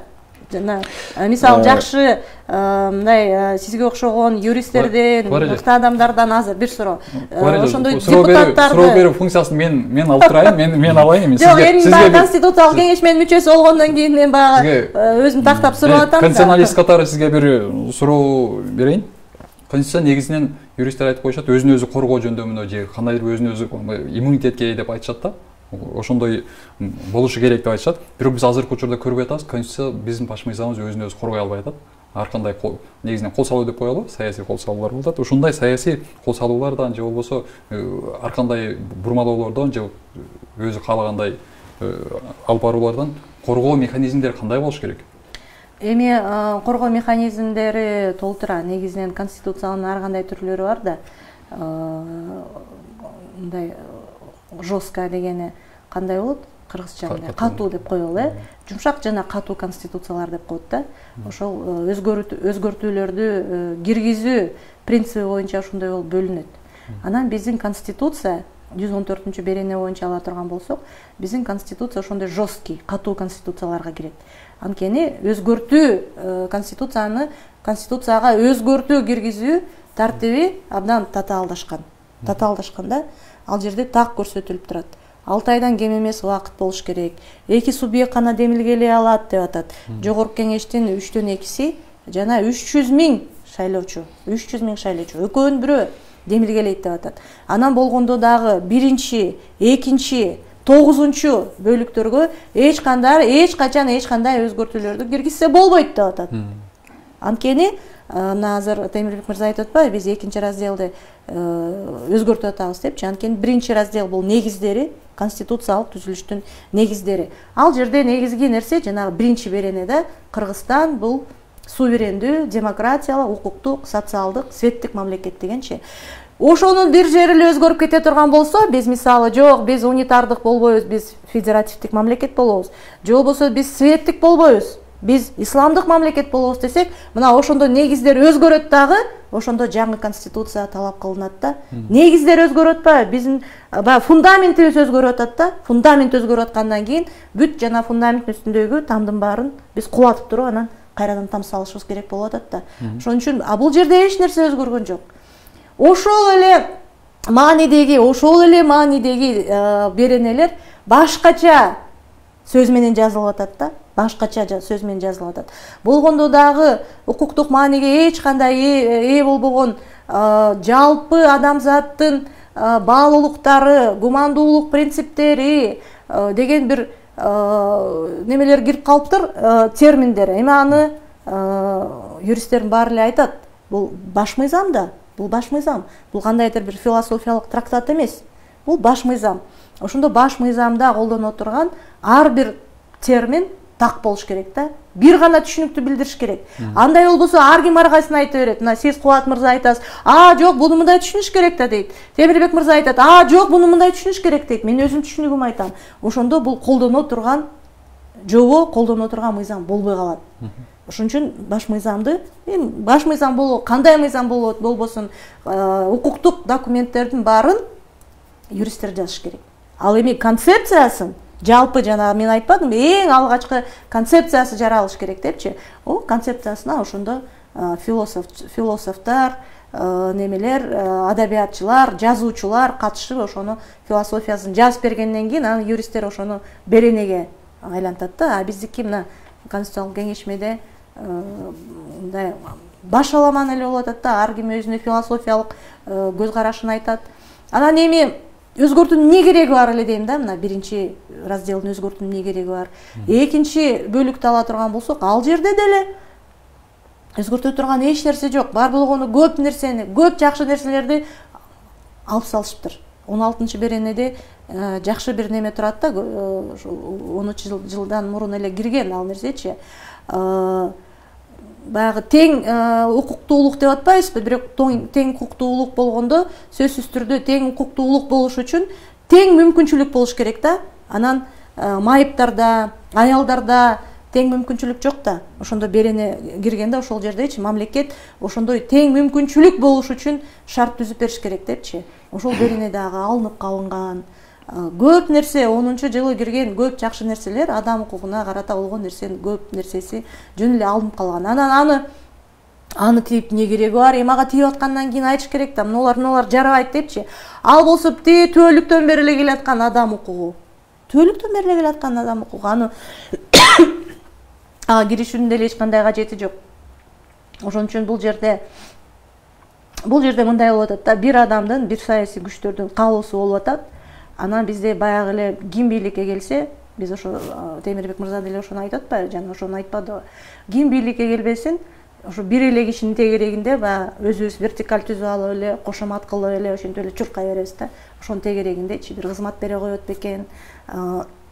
Жана мисалы жакшы мындай сизге окшогон юристтерден, мыкты адамдардан азыр бир суроо. Ошондой депутаттарды суроо берүү функциясын мен алып турайын, мен алайын. Жок, эми конституциялык кеңешменин мүчөсү болгондон кийин мен баягы өзүм тактап сурап атам. Конституционалист катары сизге бир суроо берейин. Конституция негизинен юристтер айтып коюшат, өзүн өзү коргоо жөндөмүнө же кандайдыр өзүн өзү иммунитетке деп айтышат да. Ошондой болушу керек деп айтышат. Бирок биз азыркы учурда көрүп атабыз, конституция биздин баш мыйзамыбыз өзүн өзү коргой албай атат. Ар кандай негизинен кол салуу деп коелу, саясий кол салуулар болуп атат. Ушундай саясий кол салуулардан же болбосо ар кандай бурмалоолордон же өзү каалагандай алып баруулардан коргоо механизмдери кандай болуш керек? Эми коргоо механизмдери толтура. Негизинен конституциянын ар кандай түрлөрү бар да. Мындай жестко дегени кандай болот? Кыргызча катуу деп коелу, жумшак жана катуу конституциялар деп коет да. Ошол өзгөртүүлөрдү киргизүү принциби боюнча ошондой болуп бөлүнөт. Анан биздин конституция 114 берене боюнча ала турган болсок, биздин конституция ошондой жесткий, катуу конституцияларга кирет. Анткени өзгөртүү конституцияга өзгөртүү киргизүү тартиби абдан татаалдашкан. Татаалдашканда ал жерде так көрсөтүлүп турат. 6 айдан кем эмес убакыт болуш керек. 2 субъект гана демилгелей алат деп атат. Жогорку кеңештин 3төн 2си жана 300 000 шайлоочу. 300 000 шайлоочу. Экөөнүн бирөө демилгелейт деп атат. Анан болгондо дагы 1-чи, 2-чи, 9-чу бөлүктөргө эч качан эч кандай өзгөртүүлөрдү киргизсе болбойт деп атат. Анткени мына азыр Темирбек мырза айтып атпайбы, биз 2-чи разделди өзгөртүп атабыз депчи. Анткени 1-чи раздел бул негиздери, конституциялык түзүлүштүн негиздери. Ал жерде негизги нерсе жанагы 1-чи беренеде Кыргызстан бул суверендүү, демократиялык, укуктук, социалдык, светтик мамлекет дегенчи. Ошонун бир жери эле өзгөрүп кете турган болсо, биз мисалы жок, биз унитардык болбойбуз, биз федеративдик мамлекет болобуз. Же болбосо биз светтик болбойбуз, биз исламдык мамлекет болобуз десек, мына ошондо негиздер өзгөрөт дагы, ошондо жаңы конституция талап кылынат да. Негиздер өзгөрөт атпайбы, биздин фундаментибиз өзгөрүп атат да. Фундамент өзгөрүп аткандан кийин бүт жана фундаменттин үстүндөгү тамдын баарын биз кубатып туруп анан кайрадан там салышыбыз керек болуп атат да. Ошон үчүн бул жерде эч нерсе өзгөргөн жок. Ошол эле маанидеги беренелер башкача сөз менен жазылып атат да. Башкача сөз менен жазылып атат. Болгондо дагы укуктук мааниге эч кандай ээ болбогон жалпы адамзаттын баалуулуктары, гумандуулук принциптери деген бир немелер кирип калыптыр, терминдер. Эми аны юристтердин баары эле айтат. Бул баш мыйзам да. Бул баш мыйзам. Бул кандайдыр бир философиялык трактат эмес. Бул баш мыйзам. Ошондо баш мыйзамда колдоно турган ар бир термин так болуш керек да. Бир гана түшүнүктү билдириш керек. Андай болбосо ар ким ар кайсына айта берет. Мына сиз Кубат мырза айтасыз, жок, буну мындай түшүнүш керек да дейт. Темирбек мырза айтат, жок, буну мындай түшүнүш керек дейт. Мен өзүм түшүнүгүмдү айтам. Ошондо бул колдоно турган жобо, колдоно турган мыйзам болбой калат. Ошон үчүн баш мыйзамды, баш мыйзам болобу, кандай мыйзам болот болбосун, укуктук документтердин баарын юристтер жазыш керек. Ал эми концепциясын жалпы жана мен айтпадым, эң алгачкы концепциясы жаралыш керек депчи. О концепциясына ошондо философтор, немелер, адабиятчылар, жазуучулар катышып ошону философиясын жазып бергенден кийин анан юристтер ошону беренеге айлантат да. А биздики мына конституциялык кеңешмеде мындай башаламан эле болуп атат да. Ар ким өзүнүн философиялык көз карашын айтат. Анан эми өзгөртүүнүн эмне кереги бар эле дейм да. Мына биринчи разделдин өзгөртүүнүн эмне кереги бар. Экинчи бөлүктү ала турган болсок, ал жерде деле өзгөртө турган эч нерсе жок. Бар болгону көп нерсени, көп жакшы нерселерди алып салышыптыр. 16 беренеде жакшы бир неме турат да, 13 жылдан мурун эле кирген ал нерсечи. Баягы тең укуктуулук деп атпайбызбы, бирок тең укуктуулук болгондо сөзсүз түрдө тең укуктуулук болуш үчүн тең мүмкүнчүлүк болуш керек да. Анан майыптарда, аялдарда тең мүмкүнчүлүк жок да. Ошондо берене киргенде ошол жердечи мамлекет ошондой тең мүмкүнчүлүк болуш үчүн шарт түзүп бериш керек депчи. Ошол беренедагы алынып калынган көп нерсе, 10-жылы кирген көп жакшы нерселер, адам укугуна карата болгон нерсенин көп нерсеси жөн эле алынып калган. Анан аны тийип эмне кереги бар? Эми ага тийип аткандан кийин айтыш керек да, мыналар жарабайт депчи. Ал болсо түбөлүктөн бери эле келаткан адам укугу. Түбөлүктөн бери эле келаткан адам укугу. Аны киришүүнүн деле эч кандай кажети жок. Ошон үчүн бул жерде мындай болуп атат да, бир адамдын, бир саясий күчтөрдүн каалоосу болуп атат. Анан бизде баягы эле ким бийликке келсе, биз ошо Темирбек мырза деле ошону айтып атпайбы, жана ошону айтпадыбы. Ким бийликке келбесин, ошо бир эле кишинин тегерегинде баягы өзүбүз вертикаль түзүп алып эле, кошомат кылып эле ошентип эле чуркай беребиз да. Ошонун тегерегиндечи бир кызмат бере коет бекен,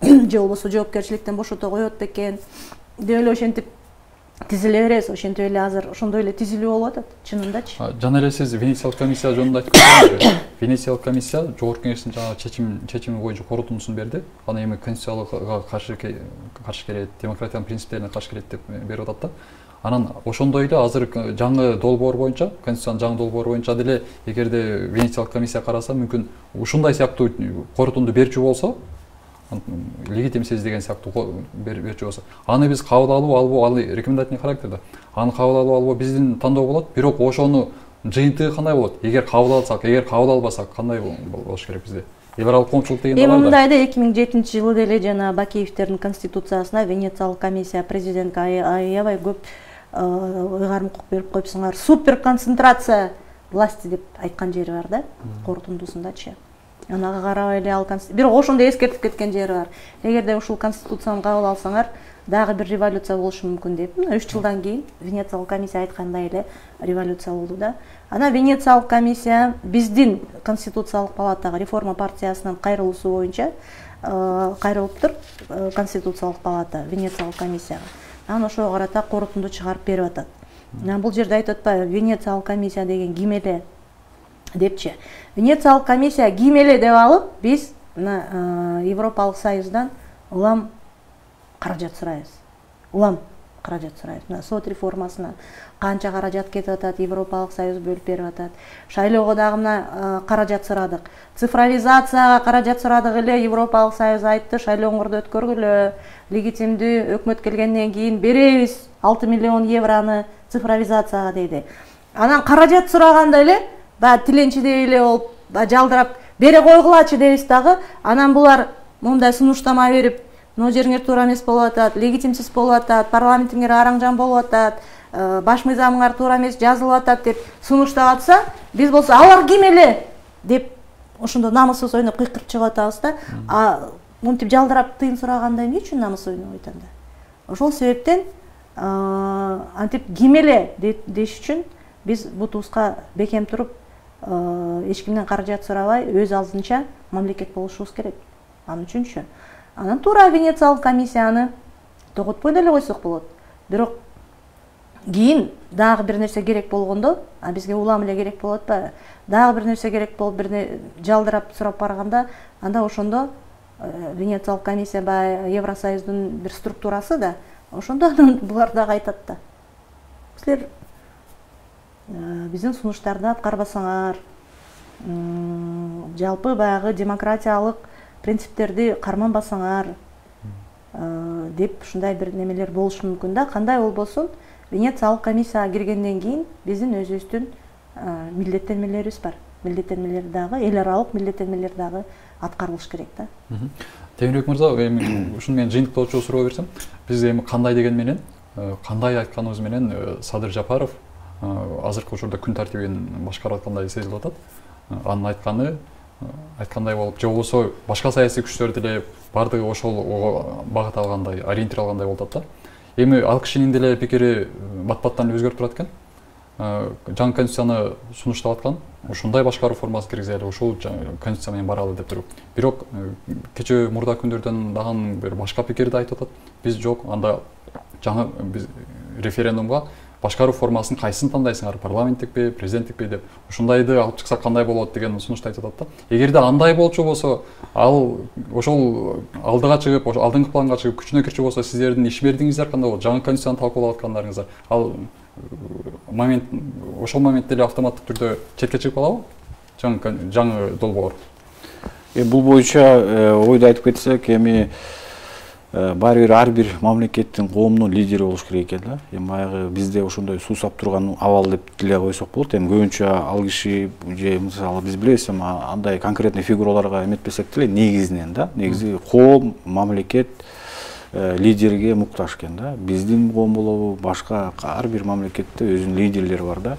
же болбосо жоопкерчиликтен бошото коет бекен деп эле ошентип тизиле беребиз. Ошентип эле азыр ошондой эле тизилүү болуп атат, чынындачы. Жана эле сиз Венециялык комиссия жөнүндө айтып кетсеңиз, Венециялык комиссия Жогорку Кеңештин жаңы чечими боюнча корутундусун берди. Аны эми конституциялыкка каршы келет, демократиянын принциптерине каршы келет деп берип атат да. Анан ошондой эле азыр жаңы долбоор боюнча, конституциянын жаңы долбоору боюнча деле эгерде Венециялык комиссия караса, мүмкүн ушундай сыяктуу корутунду берчү болсо, легитимсиз деген сыяктуу берчү болсо, аны биз кабыл алуу, ал рекомендательный характерде. Аны кабыл алуу биздин тандоо болот, бирок ошону жыйынтыгы кандай болот? Эгер кабыл алсак, эгер кабыл албасак, кандай болуш керек бизде? Либералдык коомчулук деген бар да. Мындай да 2007-жылы деле жана Бакиевдердин конституциясына Венециялык комиссия президентке аябай көп ыйгарым укук берип коюпсуңар. Супер концентрация власти деп айткан жери бар да, корутундусундачы. Анага карабай эле ал бирок ошондо эскертип кеткен жери бар. Эгерде ушул конституцияны кабыл алсаңар, дагы бир революция болушу мүмкүн деп. 3 жылдан кийин Венециялык комиссия айткандай эле революция болду да. Анан Венециялык комиссия биздин конституциялык палатага, реформа партиясынын кайрылуусу боюнча кайрылыптыр конституциялык палата Венециялык комиссияга. Анан ошого карата корутунду чыгарып берип атат. Анан бул жерде айтып атпайбы, Венециялык комиссия деген ким эле депчи. Венециялык комиссия ким эле деп алып, биз Европалык Союздан улам каражат сурайбыз. Улам каражат сурайбыз. Сот реформасына канча каражат кетип атат, Европалык Союз бөлүп берип атат. Шайлоого дагы мына каражат сурадык. Цифровизацияга каражат сурадык эле, Европалык Союз айтты, шайлооңорду өткөргүлө, легитимдүү өкмөт келгенден кийин беребиз 6 миллион евроны цифровизацияга дейди. Анан каражат сураганда эле баягы тиленчидей эле болуп, жалдырап бере койгулачы дейбиз дагы. Анан булар мондай сунуштама берип, но жериңер туура эмес болуп атат, легитимсиз болуп атат, парламентиңер араң-жан болуп атат, баш мыйзамыңар туура эмес жазылып атат деп сунуштап атса, биз болсо алар ким эле деп ошондо намысыбыз ойноп кыйкырып чыгып атабыз да. Монтип жалдырап тыйын сураганда эмне үчүн намыс ойноп айтанда? Ошол себептен антип ким эле деш үчүн биз бутубузга бекем туруп, эч кимден каражат сурабай, өз алдынча мамлекет болушубуз керек. Ал үчүнчү. Анан туура Венециялык комиссияны тоготпой деле койсок болот. Бирок кийин дагы бир нерсе керек болгондо, бизге улам эле керек болот атпайбы? Дагы бир нерсе керек болуп, бирне жалдырап сурап барганда, анда ошондо Венециялык комиссия баягы Евросоюздун бир структурасы да, ошондо анан булар дагы айтат да, силер биздин сунуштарды аткарбасаңар, жалпы баягы демократиялык принциптерди карманбасаңар деп ушундай бир немелер болушу мүмкүн да. Кандай болбосун, Венециялык комиссияга киргенден кийин биздин өзүбүздүн милдеттенмелерибиз бар. Милдеттенмелер дагы, эл аралык милдеттенмелер дагы аткарылыш керек да. Темирбек мырза, эми ушуну мен жыйынтыктоочу суроо берсем, биз эми кандай деген менен, кандай айтканыбыз менен Садыр Жапаров азыркы учурда күн тартибин башкарып аткандай сезилип атат. Анын айткандай болуп, же болбосо башка саясий күчтөр деле бардыгы ошол багыт алгандай, ориентир алгандай болуп атат да. Эми ал кишинин деле пикири бат-баттан өзгөрүп турат экен. Жаңы конституцияны сунуштап аткан, ушундай башкаруу формасы киргизели, ушул конституция менен баралы деп туруп. Бирок кечээ мурда күндөрдөн дагы бир башка пикирди айтып атат. Биз жок, анда жаңы биз референдумга башкаруу формасын кайсысын тандайсыңар, парламенттикпи, президенттикпи деп, ушундайды алып чыксак кандай болот деген сунушту айтып атат да. Эгерде андай болчу болсо, ал ошол алдыга чыгып, ошол алдыңкы планга чыгып күчүнө кирчү болсо, сиздердин ишмердигиңиздер кандай болот? Жаңы конституцияны талкуулап аткандарыңыздар, ал ошол моментте эле автоматтык түрдө четке чыгып калабы? Жаңы долбоор. Бул боюнча ойду айтып кетсек, эми ар бир мамлекеттин, коомдун лидери болуш керек экен да. Эми баягы бизде ошондой суусап турган абал деп деле койсок болот. Эми көбүнчө ал киши же мисалы биз билебиз, эми андай конкретный фигураларга эметпесек деле негизинен да, негизи коом, мамлекет лидерге муктаж экен да. Биздин коом болобу, башка ар бир мамлекетте өзүнүн лидерлери бар да.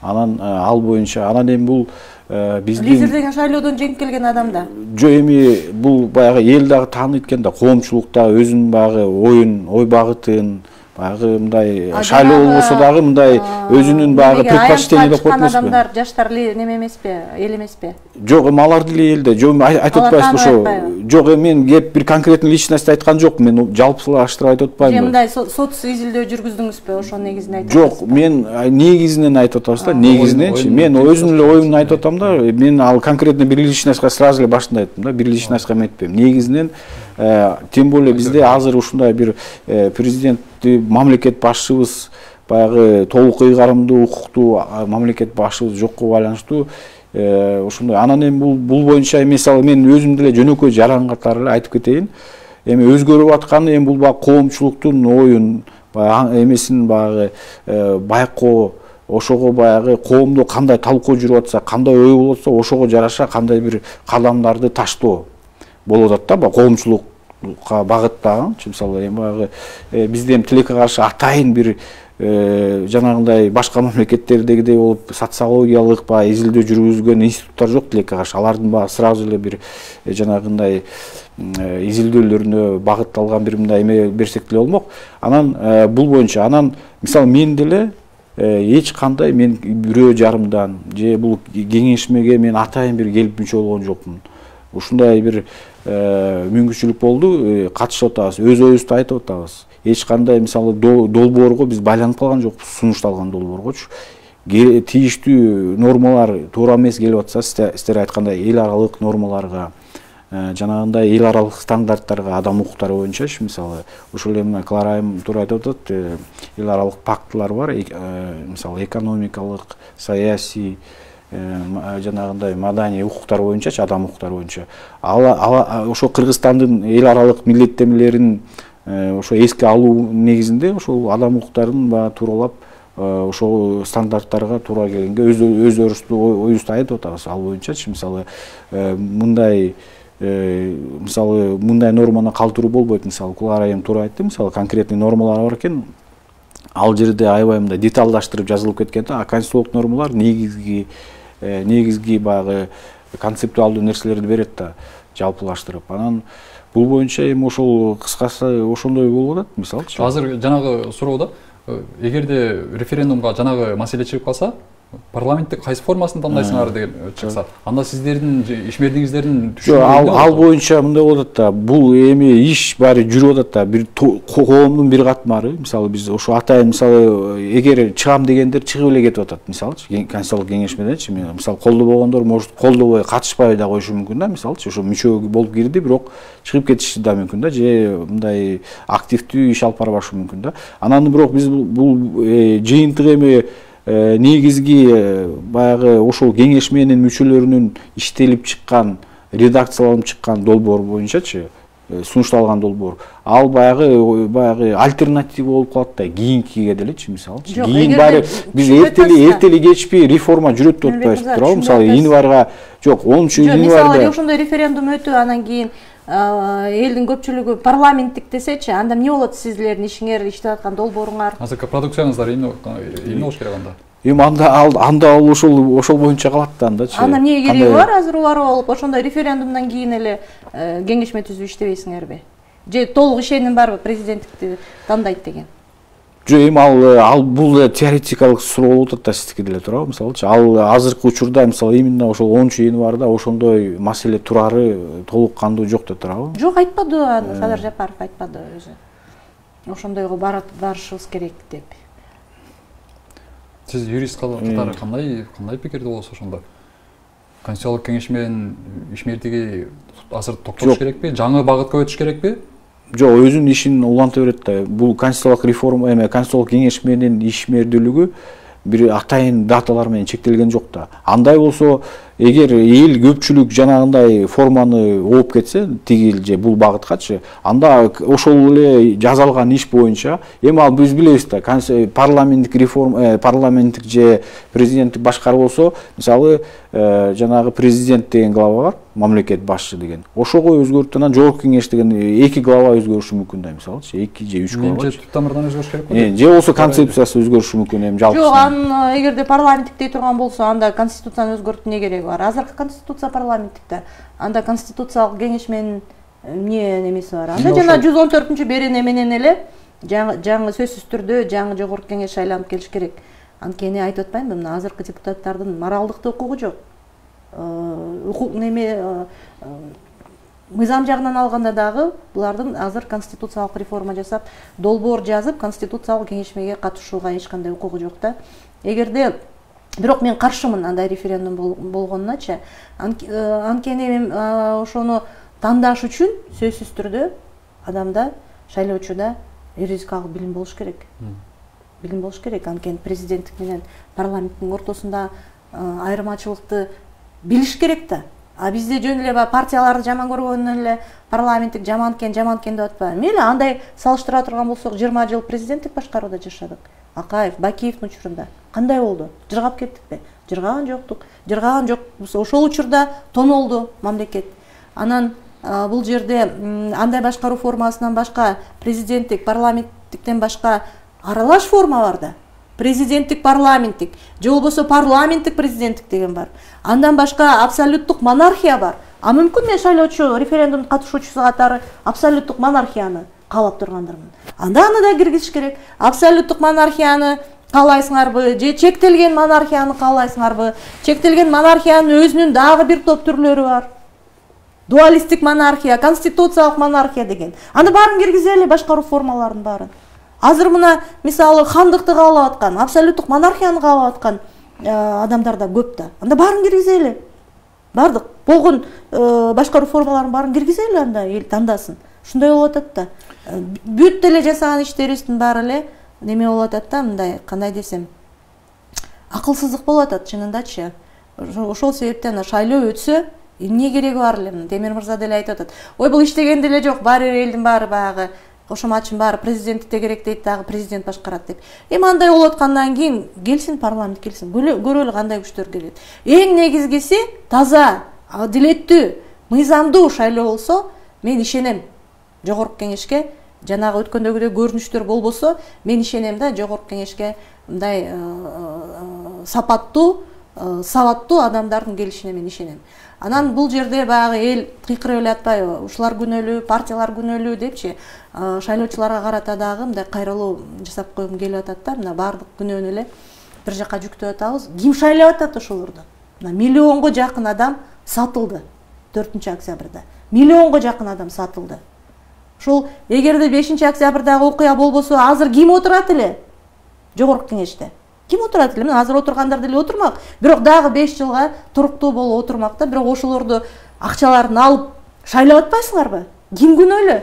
Анан ал боюнча анан эми бул биздин лидер деген шайлоодон жеңип келген адам да. Жо эми бул баягы эл дагы тааныйт экен да, коомчулукта өзүнүн баягы ой багытын, баягы мындай шайлоо болбосо дагы мындай өзүнүн баягы предпочтение деп коет эмеспи? Адамдар жаштар неме эмеспи, эл эмеспи? Жок, эми алар деле элде. Жок, айтып атпайсызбы ошо? Жок, мен кеп бир конкретный личность айткан жокмун. Мен жалпылаштырып айтып атпайм. Же мындай сот изилдөө жүргүздүңүзбү, ошо негизинен айтып атасызбы? Жок, мен негизинен айтып атабыз да, негизиненчи. Мен өзүмдүн эле оюмду айтып атам да. Мен ал конкретно бир личностька сразу эле башында айттым да, бир личностька эметпейм. Негизинен тем более бизде азыр ушундай бир президентти, мамлекет башчыбыз, баягы толук ыйгарымдуу, укуктуу мамлекет башчыбыз жокко байланыштуу ушундай. Анан эми бул боюнча мисалы мен өзүм деле жөнөкөй жаран катары эле айтып кетейин. Эми өзгөрүп атканы эми бул баягы коомчулуктун оюн, баягы эмесин баягы байкоо, ошого баягы коомдо кандай талкуу жүрүп атса, кандай ой болуп атса, ошого жараша кандай бир кадамдарды таштоо болуп атат да, коомчулукка багыттаган. Мисалы эми баягы бизде эми тилекке каршы атайын бир жанагындай башка мамлекеттердегидей болуп социологиялык баягы изилдөө жүргүзгөн институттар жок тилекке каршы. Алардын баягы сразу эле бир жанагындай изилдөөлөрүнө багытталган бир мындай эме берсек деле болмок. Анан бул боюнча анан мисалы мен деле эч кандай мен бирөө жарымдан же бул кеңешмеге мен атайын бир келип мүчө болгон жокмун. Ушундай бир мүмкүнчүлүк болду, катышып атабыз, өз оюбузду айтып атабыз. Эч кандай мисалы долбоорго биз байланып калган жокпуз, сунушталган долбооргочу. Тийиштүү нормалар туура эмес келип атса, сиздер айткандай эл аралык нормаларга, жанагындай эл аралык стандарттарга, адам укуктары боюнчачы, мисалы ошол эле Клара айым туура айтып атат, эл аралык пактылар бар, мисалы экономикалык, саясий, жанагындай маданий укуктар боюнчачы, адам укуктары боюнча. Ошо Кыргызстандын эл аралык милдеттенмелерин ошо эске алуу негизинде ошол адам укуктарын баягы тууралап, ошол стандарттарга туура келгенге өздөрүбүздүн оюбузду айтып атабыз. Ал боюнчачы мисалы мындай норманы калтыруу болбойт. Мисалы Клара айым туура айтты, мисалы конкретный нормалар бар экен. Ал жерде аябай мындай деталдаштырып жазылып кеткен да, конституциялык нормалар негизги баягы концептуалдуу нерселерди берет да, жалпылаштырып. Анан бул боюнча эми ошол кыскасы ошондой болуп атат, мисалчы. Азыр жанагы суроодо эгерде референдумга жанагы маселе чыгып калса, парламенттик кайсы формасын тандайсыңар деген чыкса, анда сиздердин ишмердигиңиздердин ал боюнча мындай болот да, бул эми иш баары жүрүп атат да, бир коомдун бир катмары, мисалы биз ошо атайын мисалы эгер чыгам дегендер чыгып эле кетип атат, мисалычы конституциялык кеңешмеденчи, мисалы колдобогондор может колдобой катышпай да коюшу мүмкүн да, мисалычы ошо мүчө болуп кирди, бирок чыгып кетиши да мүмкүн да, же мындай активдүү иш алып барбашы мүмкүн да. Анан бирок биз бул жыйынтык эми негизги баягы ошол кеңешменин мүчөлөрүнүн иштелип чыккан, редакцияланып чыккан долбоор боюнчачы, сунушталган долбоор, ал баягы альтернатива болуп калат да кийинкиге делечи, мисалы. Кийин баары биз эртели кечпи реформа жүрөт деп атпайбызбы, туурабы? Мисалы январга, жок, 10-январда. Мисалы ошондой референдум өтүп, анан кийин элдин көпчүлүгү парламенттик десечи, анда эмне болот сиздердин ишиңер, иштеп аткан долбооруңар? Азыркы продукцияңыздар эмне болуш керек анда? Эми анда ал ошол боюнча калат да андачы. Анда эмне кереги бар азыр убарып алып, ошондой референдумдан кийин эле кеңешме түзүп иштебейсиңерби? Же толук ишеним барбы президенттикти тандайт деген? Жо эми ал бул теоретикалык суроо болуп атат да сиздики деле, туурабы? Мисалычы ал азыркы учурда мисалы именно ошол 10-январда ошондой маселе турары толук кандуу жок деп турабы? Жок, айтпады аны, Садыр Жапаров айтпады өзү. Ошондойго барышыбыз керек деп. Сиз юрист катары кандай пикирде болосуз ошондо? Конституциялык кеңешменин ишмердиги азыр токтолуш керекпи? Жаңы багытка өтүш керекпи? Жок, өзүнүн ишин уланта берет да. Бул конституциялык реформа конституциялык кеңешменин ишмердүүлүгү бир атайын даталар менен чектелген жок да. Андай болсо, эгер эл көпчүлүк жанагындай форманы ооп кетсе, тигил же бул багыткачы, анда ошол эле жазалган иш боюнча, эми ал биз билебиз да, парламенттик реформа, парламенттик же президенттик башкаруу болсо, мисалы, жанагы президент деген глава бар, мамлекет башчы деген. Ошого өзгөртүп, анан жогорку кеңеш деген 2 глава өзгөрүшү мүмкүн да, мисалычы, 2 же 3 глава. Же түп тамырдан өзгөрүш керек? Же болсо концепциясы өзгөрүшү мүмкүн эми жалпы. Жок, эгерде парламенттик дей турган болсо, анда конституцияны өзгөртүү эмне кереги бар? Азыркы конституция парламенттикте, анда конституциялык кеңешменин эмне немеси бар? Анда жана 114-берене менен эле жаңы сөзсүз түрдө жаңы жогорку кеңеш шайланып келиш керек. Анткени айтып атпаймынбы, мына азыркы депутаттардын моралдык укугу жок. Укук неме мыйзам жагынан алганда дагы булардын азыр конституциялык реформа жасап, долбоор жазып, конституциялык кеңешмеге катышууга эч кандай укугу жок да. Эгерде бирок мен каршымын андай референдум болгонуначы. Анткени мен ошону тандаш үчүн сөзсүз түрдө адамда, шайлоочуда юридикалык билим болуш керек. Билим болуш керек. Анткени президенттик менен парламенттин ортосунда айырмачылыкты билиш керек да. А бизде жөн эле партияларды жаман көргөндөн эле парламенттик жаман экен деп атпайбы. Мейли андай салыштыра турган болсок, 20 жыл президенттик башкарууда жашадык. Акаев, Бакиевдин учурунда кандай болду? Жыргап кеттикпи? Жыргаган жоктук. Жыргаган жок. Ошол учурда тонолду мамлекет. Анан бул жерде андай башкаруу формасынан башка, президенттик, парламенттиктен башка аралаш форма бар да. Президенттик, парламенттик, же болбосо парламенттик президенттик деген бар. Андан башка абсолюттук монархия бар. А мүмкүн мен шайлоочу, референдум катышуучусу катары абсолюттук монархияны каалап тургандырмын. Анда аны да киргизиш керек. Абсолюттук монархияны каалайсыңарбы, же чектелген монархияны каалайсыңарбы? Чектелген монархиянын өзүнүн дагы бир топ түрлөрү бар. Дуалистик монархия, конституциялык монархия деген. Аны баарын киргизели, башкаруу формаларын баарын. Азыр мына мисалы хандыкты каалап аткан, абсолюттук монархияны каалап аткан адамдар да көп да. Анда баарын киргизели. Бардык болгон башкаруу формаларын баарын киргизели, анда эл тандасын. Ушундай болуп атат да. Бүт деле жасаган иштерибиздин баары эле неме болуп атат да, мындай, кандай десем, акылсыздык болуп атат чынындачы. Ошол себептен шайлоо өтсө, эмне кереги бар эле? Темир мырза деле айтып атат. Ой, бул иштеген деле жок, баары элдин баары баягы кошоматчын баары президенттикте керек дейт, дагы президент башкарат деп. Эми андай болуп аткандан кийин келсин парламент, келсин. Көрөлү кандай күчтөр келет. Эң негизгиси таза, адилеттүү, мыйзамдуу шайлоо болсо, мен ишенем. Жогорку кеңешке жанагы өткөндөгүдөй көрүнүштөр болбосо, мен ишенем да жогорку кеңешке мындай сапаттуу, сабаттуу адамдардын келишине мен ишенем. Анан бул жерде баягы эл кыйкырып эле атпайбы? Ушулар күнөөлүү, партиялар күнөөлүү депчи, шайлоочуларга карата дагы мындай кайрылуу жасап койгум келип атат да, мына баардык күнөөнү эле бир жака жүктөп атабыз. Ким шайлап атат ошолорду? Миллионго жакын адам сатылды 4-октябрда. Миллионго жакын адам сатылды. Ошол эгерде 5-октябрдагы окуя болбосо, азыр ким отурат эле? Жогорку кеңеште. Ким отурат эле? Азыр отургандар деле отурмак. Бирок дагы 5 жылга туруктуу болуп отурмак да. Бирок ошолорду акчаларын алып шайлап атпайсыңарбы? Ким күнөөлүү?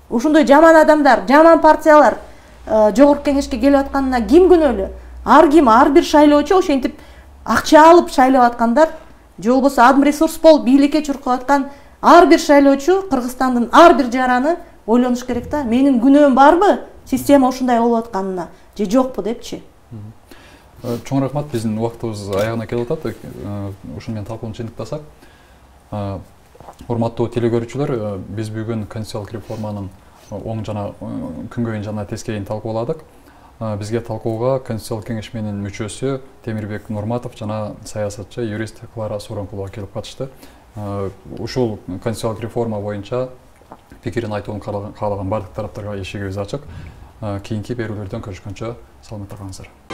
Ошондой жаман адамдар, жаман партиялар жогорку кеңешке келип атканына ким күнөөлүү? Ар ким, ар бир шайлоочу ошентип акча алып шайлап аткандар, же болбосо адым ресурс болуп бийликке чуркап аткан ар бир шайлоочу, Кыргызстандын ар бир жараны ойлонуш керек да. Менин күнөөм барбы система ушундай болуп атканына же жокпу депчи. Чоң рахмат, биздин убактыбыз аягына келип атат. Ушуну менен талкууну чындыктасак, урматтуу телекөрүүчүлөр, биз бүгүн конституциялык реформанын оң жана күнгөйүн жана тескейин талкууладык. Бизге талкууга Конституциялык кеңеш менин мүчөсү Темирбек Нурматов жана саясатчы юрист Клара Суранкулова келип катышты. Ушул конституциялык реформа боюнча пикирин айтууну каалаган бардык тараптарга эшигибиз ачык. Кийинки берүүлөрдөн көрүшкөнчө саламатта калыңыздар.